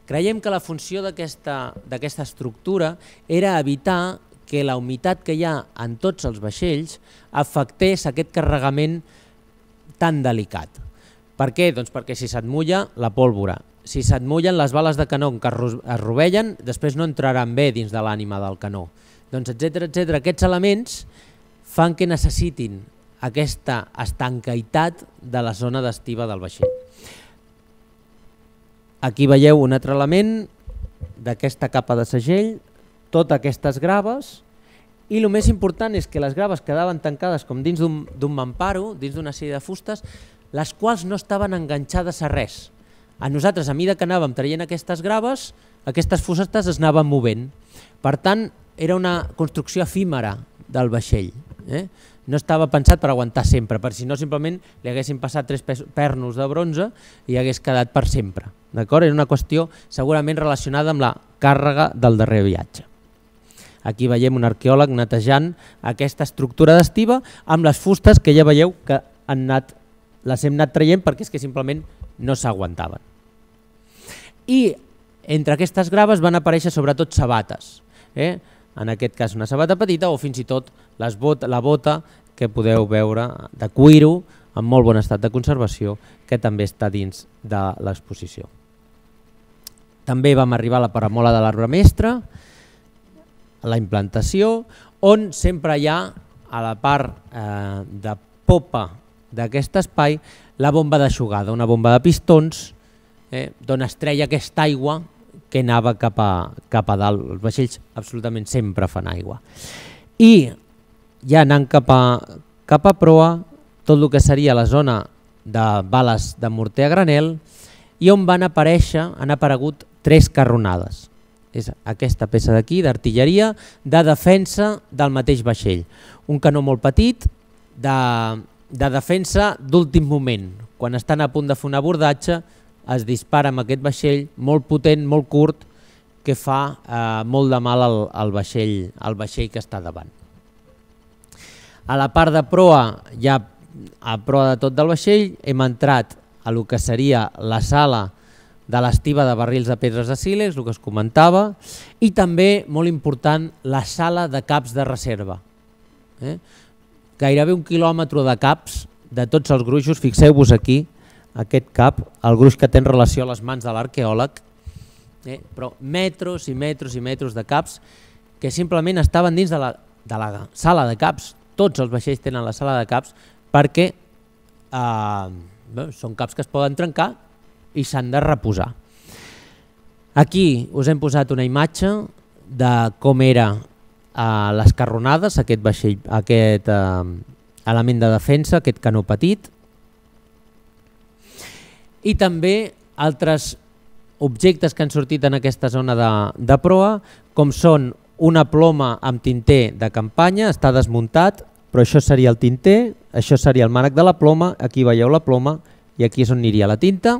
Creiem que la funció d'aquesta estructura era evitar que la humitat que hi ha en tots els vaixells afectés aquest carregament tan delicat. Per què? Doncs perquè si se't mulla la pólvora, si se't mullen les bales de canó que es rovellen, després no entraran bé dins de l'ànima del canó. Doncs etcètera, etcètera. Aquests elements fan que necessitin aquesta estancaïtat de la zona d'estiba del vaixell. Aquí veieu un altre element d'aquesta capa de segell, totes aquestes graves, i el més important és que les graves quedaven tancades com dins d'un mamparo, dins d'una sèrie de fustes, les quals no estaven enganxades a res. A nosaltres, a mesura que anàvem traient aquestes graves, aquestes fustes es anaven movent. Per tant, era una construcció efímera del vaixell. Eh? No estava pensat per aguantar sempre, per si no simplement li haguessin passat tres pernos de bronze i hagués quedat per sempre. Era una qüestió segurament relacionada amb la càrrega del darrer viatge. Aquí veiem un arqueòleg netejant aquesta estructura d'estiba amb les fustes que ja veieu que han anat, les hem anat traient perquè és que simplement no s'aguantaven. I entre aquestes graves van aparèixer sobretot sabates. Eh? En aquest cas una sabata petita o fins i tot les bot, la bota que podeu veure de cuiro en molt bon estat de conservació que també està dins de l'exposició. També vam arribar a la paramola de l'arbre mestre, a la implantació, on sempre hi ha a la part eh, de popa d'aquest espai la bomba d'aixugada, una bomba de pistons eh, d'on es treia aquesta aigua que anava cap a, cap a dalt. Els vaixells absolutament sempre fan aigua. I ja anant cap a, cap a proa, tot el que seria la zona de bales de morter a granel, i on van aparèixer, han aparegut tres carronades. És aquesta peça d'aquí, d'artilleria, de defensa del mateix vaixell. Un canó molt petit, de de defensa d'últim moment. Quan estan a punt de fer un abordatge, es dispara amb aquest vaixell molt potent, molt curt, que fa eh, molt de mal al, al, vaixell, al vaixell que està davant. A la part de proa, ja a proa de tot del vaixell, hem entrat a lo que seria la sala de l'estiva de barrils de pedres de sílex, el que es comentava, i també, molt important, la sala de caps de reserva. Eh? Gairebé un quilòmetre de caps de tots els gruixos, fixeu-vos aquí, aquest cap, el gruix que té en relació a les mans de l'arqueòleg, eh? Però metres i metres i metres de caps que simplement estaven dins de la, de la sala de caps. Tots els vaixells tenen la sala de caps perquè eh, bé, són caps que es poden trencar i s'han de reposar. Aquí us hem posat una imatge de com era eh, les carronades, aquest vaixell, aquest eh, element de defensa, aquest canó petit, i també altres objectes que han sortit en aquesta zona de, de proa, com són una ploma amb tinter de campanya, està desmuntat, però això seria el tinter, això seria el mànec de la ploma, aquí veieu la ploma i aquí és on aniria la tinta.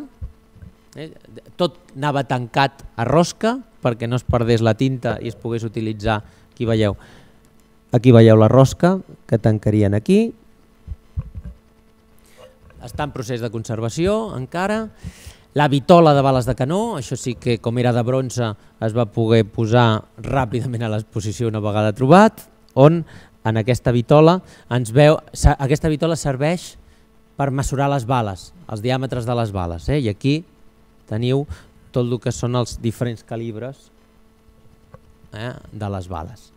Eh? Tot anava tancat a rosca perquè no es perdés la tinta i es pogués utilitzar, aquí veieu, aquí veieu la rosca que tancarien aquí. Està en procés de conservació encara. La vitola de bales de canó, això sí que com era de bronze es va poder posar ràpidament a l'exposició una vegada trobat, on en aquesta vitola ens veu, aquesta vitola serveix per mesurar les bales, els diàmetres de les bales, eh? I aquí teniu tot el que són els diferents calibres eh? de les bales.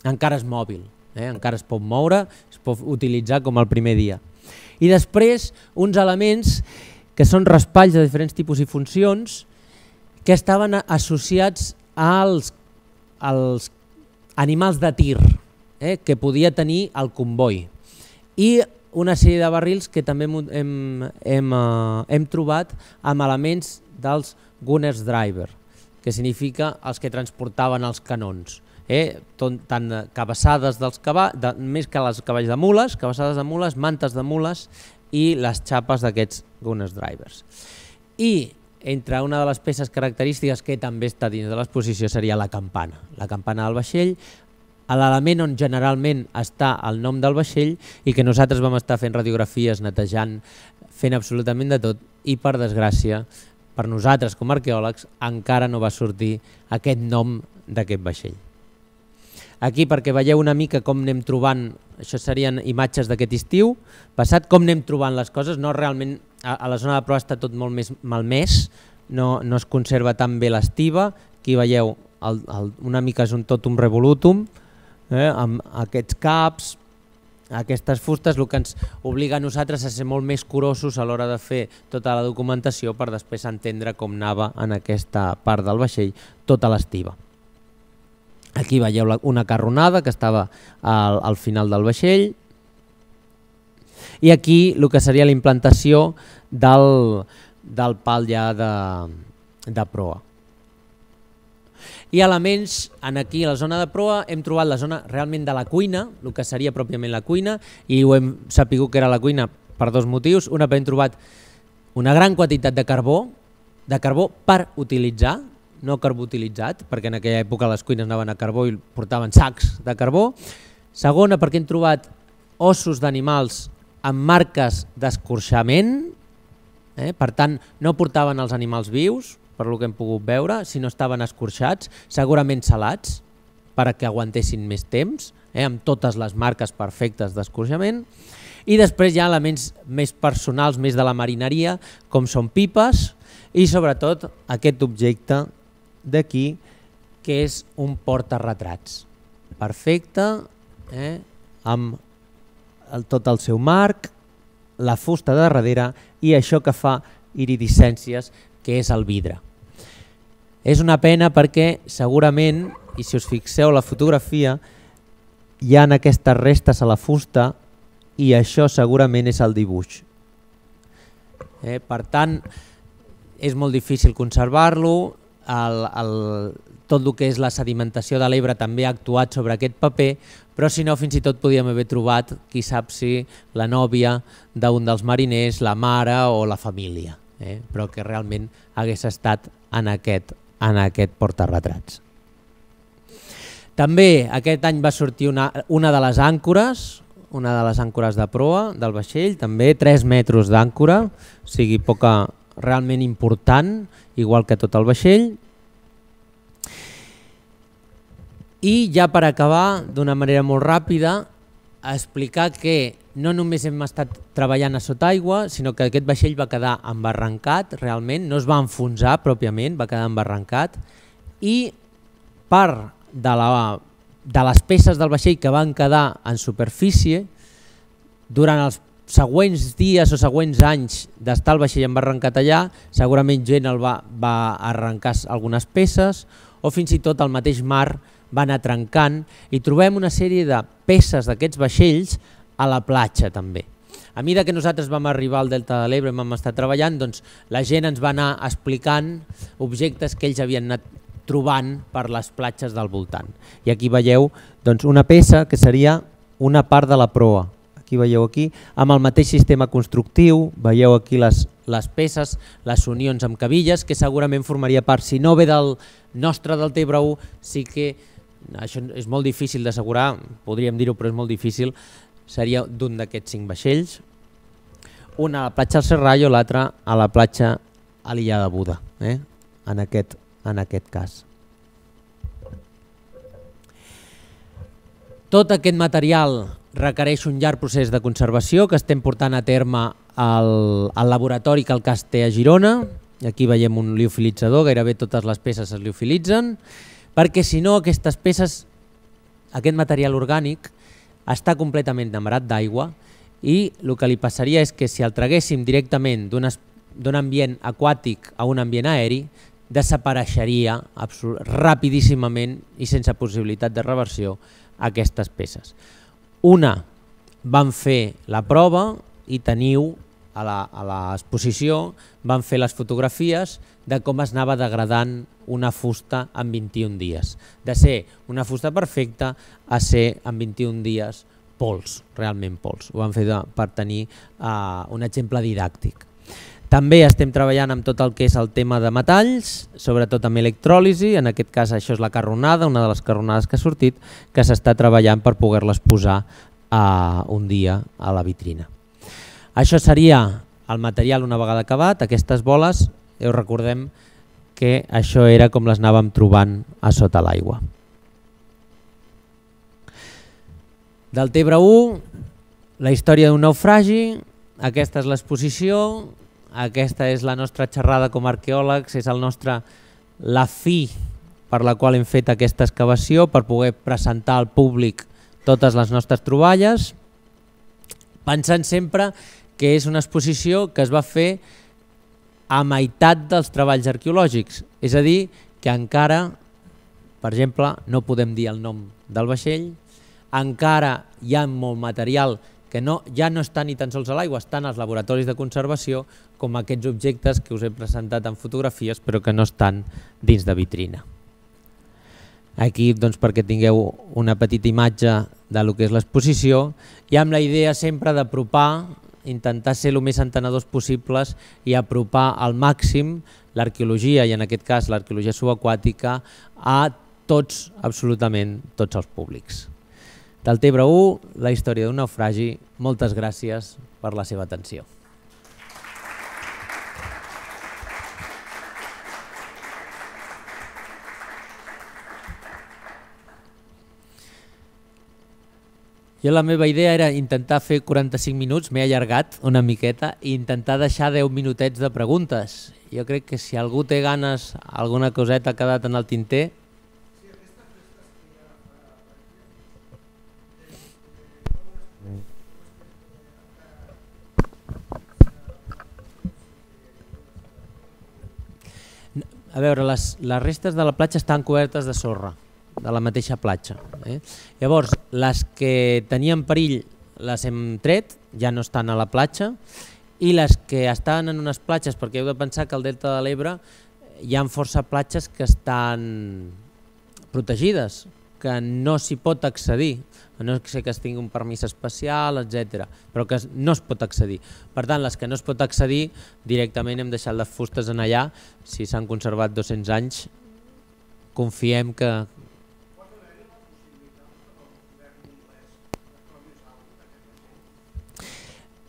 Encara és mòbil, eh? Encara es pot moure, es pot utilitzar com el primer dia. I després uns elements que són raspalls de diferents tipus i funcions que estaven associats als, als animals de tir eh, que podia tenir el comboi, i una sèrie de barrils que també hem, hem, uh, hem trobat amb elements dels gunners driver, que significa els que transportaven els canons. Eh? Tot, tant cabassades dels cavalls, de, més que els cavalls de mules, cabassades de mules, mantes de mules i les xapes d'aquests gunners drivers. I entre una de les peces característiques que també està dins de l'exposició seria la campana, la campana del vaixell, l'element on generalment està el nom del vaixell i que nosaltres vam estar fent radiografies, netejant, fent absolutament de tot, i per desgràcia, per nosaltres com a arqueòlegs, encara no va sortir aquest nom d'aquest vaixell. Aquí perquè veieu una mica com anem trobant, això serien imatges d'aquest estiu passat, com anem trobant les coses, no realment a la zona de proa està tot molt més malmès, no, no es conserva tan bé l'estiva, aquí veieu el, el, una mica és un totum revolutum, eh, amb aquests caps, aquestes fustes, el que ens obliga a nosaltres a ser molt més curosos a l'hora de fer tota la documentació per després entendre com anava en aquesta part del vaixell tota l'estiva. Aquí veieu una carronada que estava al, al final del vaixell i aquí el que seria la implantació del, del pal ja de, de proa. I elements, en aquí a la zona de proa hem trobat la zona realment de la cuina, el que seria pròpiament la cuina, i ho hem sapigut que era la cuina per dos motius. Una, hem trobat una gran quantitat de carbó, de carbó per utilitzar, no carbó utilitzat, perquè en aquella època les cuines anaven a carbó i portaven sacs de carbó. Segona, perquè hem trobat ossos d'animals amb marques d'escorxament, eh? Per tant no portaven els animals vius, per el que hem pogut veure, si no estaven escorxats, segurament salats, perquè aguantessin més temps, eh? Amb totes les marques perfectes d'escorxament. I després hi ha elements més personals, més de la marineria, com són pipes, i sobretot aquest objecte d'aquí, que és un porta-retrats. Perfecte, eh? Amb el, tot el seu marc, la fusta de darrere i això que fa iridescències, que és el vidre. És una pena perquè segurament, i si us fixeu la fotografia, hi ha aquestes restes a la fusta i això segurament és el dibuix. Eh, per tant, és molt difícil conservar-lo, el, el, tot el que és la sedimentació de l'Ebre també ha actuat sobre aquest paper, però si no fins i tot podíem haver trobat, qui sap si, la nòvia d'un dels mariners, la mare o la família, eh? Però que realment hagués estat en aquest, en aquest portarretrats. També aquest any va sortir una, una de les àncores, una de les àncores de proa del vaixell, també tres metres d'àncora, o sigui, poca, realment important, igual que tot el vaixell. I ja per acabar, d'una manera molt ràpida, explicar que no només hem estat treballant a sota aigua, sinó que aquest vaixell va quedar embarrancat, realment, no es va enfonsar pròpiament, va quedar embarrancat, i part de, la, de les peces del vaixell que van quedar en superfície, durant els següents dies o següents anys d'estar el vaixell embarrancat allà, segurament gent el va, va arrencar algunes peces, o fins i tot el mateix mar va anar trencant, i trobem una sèrie de peces d'aquests vaixells a la platja també. A mesura que nosaltres vam arribar al Delta de l'Ebre i vam estar treballant, doncs la gent ens va anar explicant objectes que ells havien anat trobant per les platges del voltant. I aquí veieu doncs, una peça que seria una part de la proa. Aquí veieu aquí, amb el mateix sistema constructiu, veieu aquí les, les peces, les unions amb cabilles, que segurament formaria part, si no ve del nostre del Tebre u, sí que, això és molt difícil d'assegurar, podríem dir-ho però és molt difícil, seria d'un d'aquests cinc vaixells, una a la platja del Serrallo, l'altra a la platja a l'illa de Buda, eh? en, aquest, en aquest cas. Tot aquest material requereix un llarg procés de conservació que estem portant a terme al, al laboratori que el C A S té a Girona. Aquí veiem un liofilitzador, gairebé totes les peces es liofilitzen, perquè si no aquestes peces, aquest material orgànic, està completament enamorat d'aigua i el que li passaria és que si el traguéssim directament d'un ambient aquàtic a un ambient aeri, desapareixeria rapidíssimament i sense possibilitat de reversió aquestes peces. Una, van fer la prova i teniu a l'exposició, van fer les fotografies de com es anava degradant una fusta en vint-i-un dies. De ser una fusta perfecta a ser en vint-i-un dies pols, realment pols. Ho van fer per tenir uh, un exemple didàctic. També estem treballant amb tot el que és el tema de metalls, sobretot amb electròlisi, en aquest cas això és la carronada, una de les carronades que ha sortit, que s'està treballant per poder-les posar uh, un dia a la vitrina. Això seria el material una vegada acabat, aquestes boles, i us recordem que això era com les anàvem trobant a sota l'aigua. Del Tebre u, la història d'un naufragi, aquesta és l'exposició, aquesta és la nostra xerrada com a arqueòlegs, és el nostre, la fi per la qual hem fet aquesta excavació, per poder presentar al públic totes les nostres troballes, pensant sempre que és una exposició que es va fer a meitat dels treballs arqueològics, és a dir, que encara, per exemple, no podem dir el nom del vaixell, encara hi ha molt material que no, ja no està ni tan sols a l'aigua, estan als laboratoris de conservació, com aquests objectes que us he presentat en fotografies però que no estan dins de vitrina. Aquí, doncs, perquè tingueu una petita imatge del que és l'exposició, i amb la idea sempre d'apropar, intentar ser el més entenedors possibles i apropar al màxim l'arqueologia, i en aquest cas l'arqueologia subaquàtica, a tots, absolutament tots els públics. Del Tebre u, la història d'un naufragi. Moltes gràcies per la seva atenció. Jo la meva idea era intentar fer quaranta-cinc minuts, m'he allargat una miqueta, i intentar deixar deu minutets de preguntes. Jo crec que si algú té ganes, alguna coseta ha quedat en el tinter. A veure, les, les restes de la platja estan cobertes de sorra, de la mateixa platja. Eh? Llavors, les que tenien perill les hem tret, ja no estan a la platja, i les que estan en unes platges, perquè heu de pensar que el Delta de l'Ebre hi ha força platges que estan protegides, que no s'hi pot accedir, no sé que es tingui un permís especial, etcètera, però que no es pot accedir. Per tant, les que no es pot accedir, directament hem deixat les fustes en allà, si s'han conservat dos-cents anys, confiem que...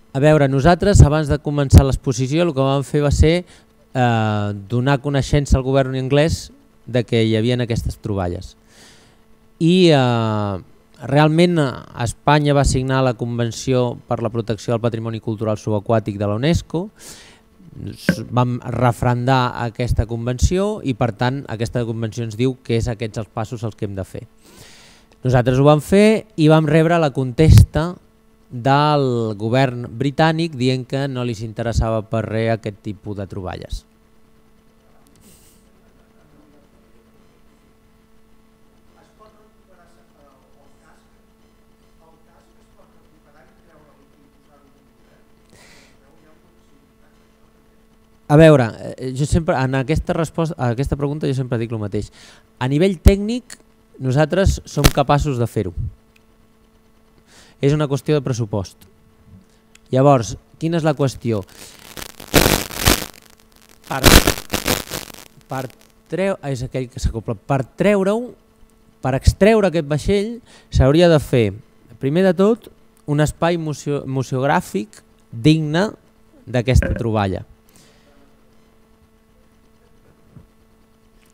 A veure, nosaltres, abans de començar l'exposició, el que vam fer va ser eh, donar coneixença al govern anglès de que hi havia aquestes troballes. I eh, realment Espanya va signar la Convenció per la Protecció del Patrimoni Cultural Subaquàtic de la UNESCO, vam refrendar aquesta convenció i per tant aquesta convenció ens diu que és aquests els passos els que hem de fer. Nosaltres ho vam fer i vam rebre la contesta del govern britànic dient que no li interessava per res aquest tipus de troballes. A veure, jo sempre, en aquesta, resposta, en aquesta pregunta jo sempre dic el mateix. A nivell tècnic, nosaltres som capaços de fer-ho. És una qüestió de pressupost. Llavors, quina és la qüestió? Per, per, treu, és aquell que s'acopla. Per treure-ho, per extreure aquest vaixell, s'hauria de fer, primer de tot, un espai museo, museogràfic digne d'aquesta troballa.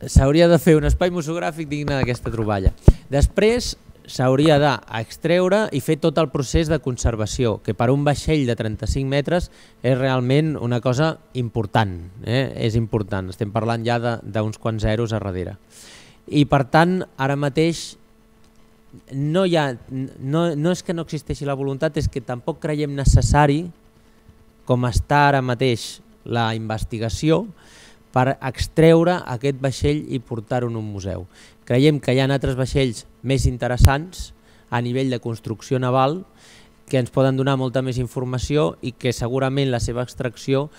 S'hauria de fer un espai museogràfic digne d'aquesta troballa. Després s'hauria d'extreure i fer tot el procés de conservació, que per un vaixell de trenta-cinc metres és realment una cosa important, eh? És important, estem parlant ja d'uns quants zeros a darrere. I per tant, ara mateix, no, hi ha, no, no és que no existeixi la voluntat, és que tampoc creiem necessari, com està ara mateix la investigació, per extreure aquest vaixell i portar-ho en un museu. Creiem que hi ha altres vaixells més interessants a nivell de construcció naval que ens poden donar molta més informació i que segurament la seva extracció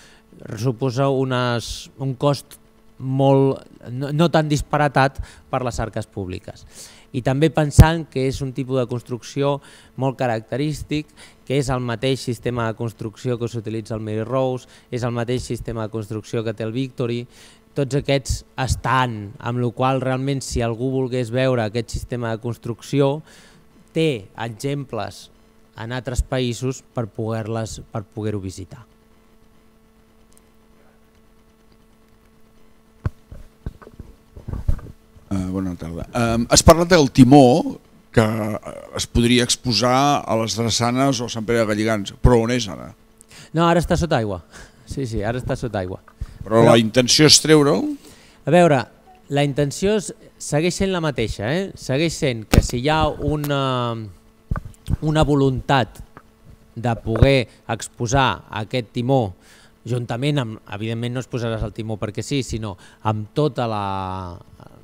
suposa unes, un cost molt, no, no tan disparatat per les arques públiques. I també pensant que és un tipus de construcció molt característic, que és el mateix sistema de construcció que s'utilitza al Mary Rose, és el mateix sistema de construcció que té el Victory, tots aquests estan, amb la qual cosa realment si algú volgués veure aquest sistema de construcció té exemples en altres països per poder-les, per poder-ho visitar. Uh, bona tarda. Uh, has parlat del timó que es podria exposar a les drassanes o a Sant Pere de Galligants, però on és ara? No, ara està sota aigua. Sí, sí, ara està sota aigua. Però, però la intenció és treure-ho? A veure, la intenció és, segueix sent la mateixa, eh? Segueix sent que si hi ha una, una voluntat de poder exposar aquest timó juntament amb, evidentment no es posaràs el timó perquè sí, sinó amb totes la,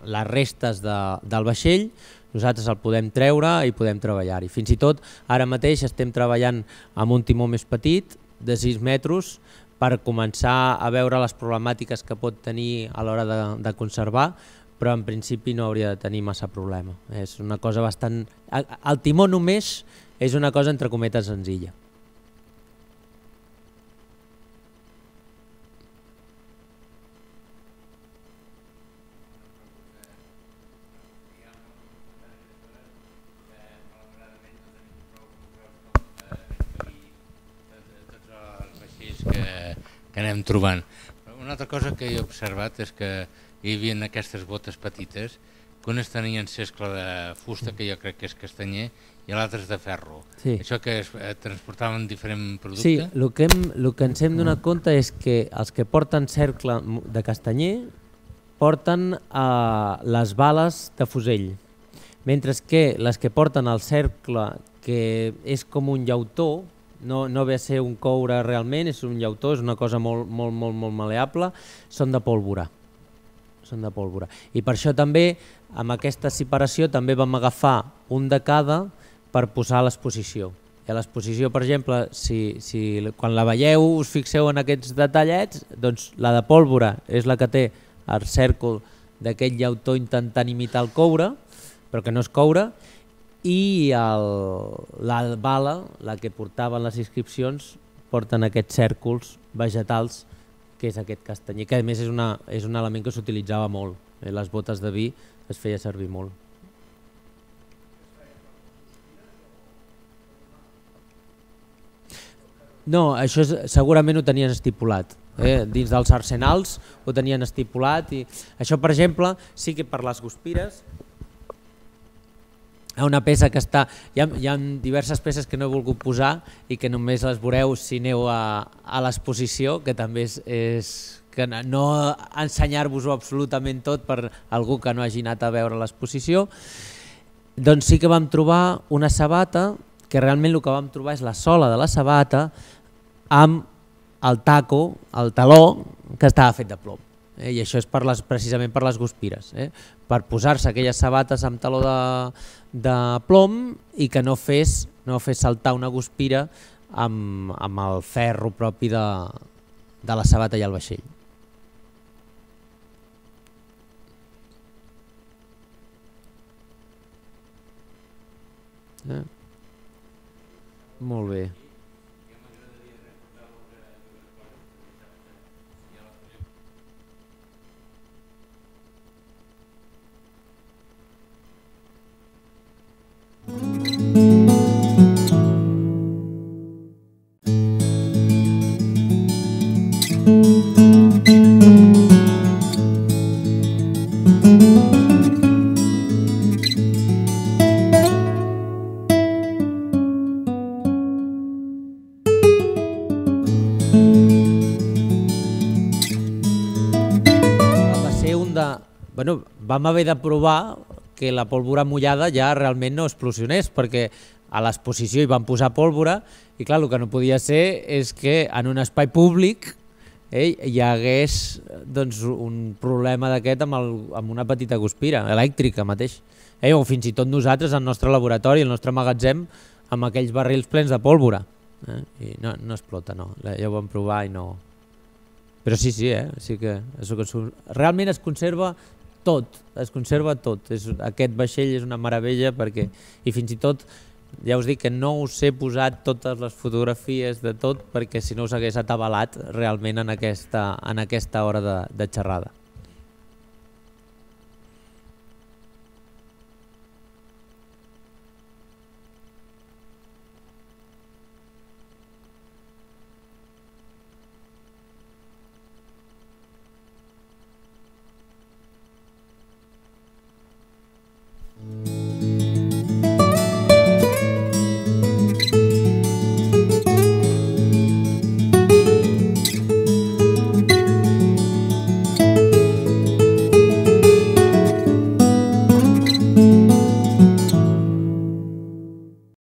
les restes de, del vaixell, nosaltres el podem treure i podem treballar-hi. Fins i tot ara mateix estem treballant amb un timó més petit, de sis metres, per començar a veure les problemàtiques que pot tenir a l'hora de, de conservar, però en principi no hauria de tenir massa problema. És una cosa bastant... El timó només és una cosa entre cometes senzilla. que anem trobant. Una altra cosa que he observat és que hi havia aquestes botes petites que unes tenien cescle de fusta, que jo crec que és castanyer, i l'altre és de ferro. Sí. Això que es eh, transportaven diferent producte? Sí, el que, hem, el que ens hem donat compte és que els que porten cercle de castanyer porten eh, les bales de fusell, mentre que les que porten el cercle, que és com un llautó, no, no ve a ser un coure realment, és un llautó, és una cosa molt, molt, molt, molt maleable, són de pólvora. Són de pólvora. I per això també, amb aquesta separació, també vam agafar un de cada per posar a l'exposició. I a l'exposició, per exemple, si, si quan la veieu us fixeu en aquests detallets, doncs la de pólvora és la que té el cèrcol d'aquest llautó intentant imitar el coure, però que no és coure, i el, la bala, la que portaven les inscripcions, porten aquests cèrcols vegetals, que és aquest castanyer, que a més és, una, és un element que s'utilitzava molt. Eh? Les botes de vi es feia servir molt. No, això és, segurament ho tenien estipulat. Eh? Dins dels arsenals ho tenien estipulat. I això, per exemple, sí que per les guspires, hi ha una peça que està... Hi ha, hi ha diverses peces que no he volgut posar i que només les veureu si aneu a, a l'exposició, que també és... és que no ensenyar-vos-ho absolutament tot per algú que no hagi anat a veure l'exposició. Doncs sí que vam trobar una sabata, que realment el que vam trobar és la sola de la sabata amb el taco, el taló, que estava fet de plom. Eh? I això és per les, precisament per les guspires, eh? Per posar-se aquelles sabates amb taló de, de plom i que no fes, no fes saltar una guspira amb, amb el ferro propi de, de la sabata i el vaixell. Eh? Molt bé. Bueno, vam haver de provar que la pólvora mullada ja realment no explosionés, perquè a l'exposició hi van posar pólvora i clar, el que no podia ser és que en un espai públic eh, hi hagués doncs, un problema d'aquest amb, el, amb una petita guspira elèctrica mateix. Eh, o fins i tot nosaltres, al nostre laboratori, al nostre magatzem, amb aquells barrils plens de pólvora. Eh, i no, no explota, no. Ja ho vam provar i no... Però sí, sí, eh? Sí que realment es conserva tot, es conserva tot. És, aquest vaixell és una meravella perquè, i fins i tot, ja us dic que no us he posat totes les fotografies de tot perquè si no us hagués atabalat realment en aquesta, en aquesta hora de, de xerrada.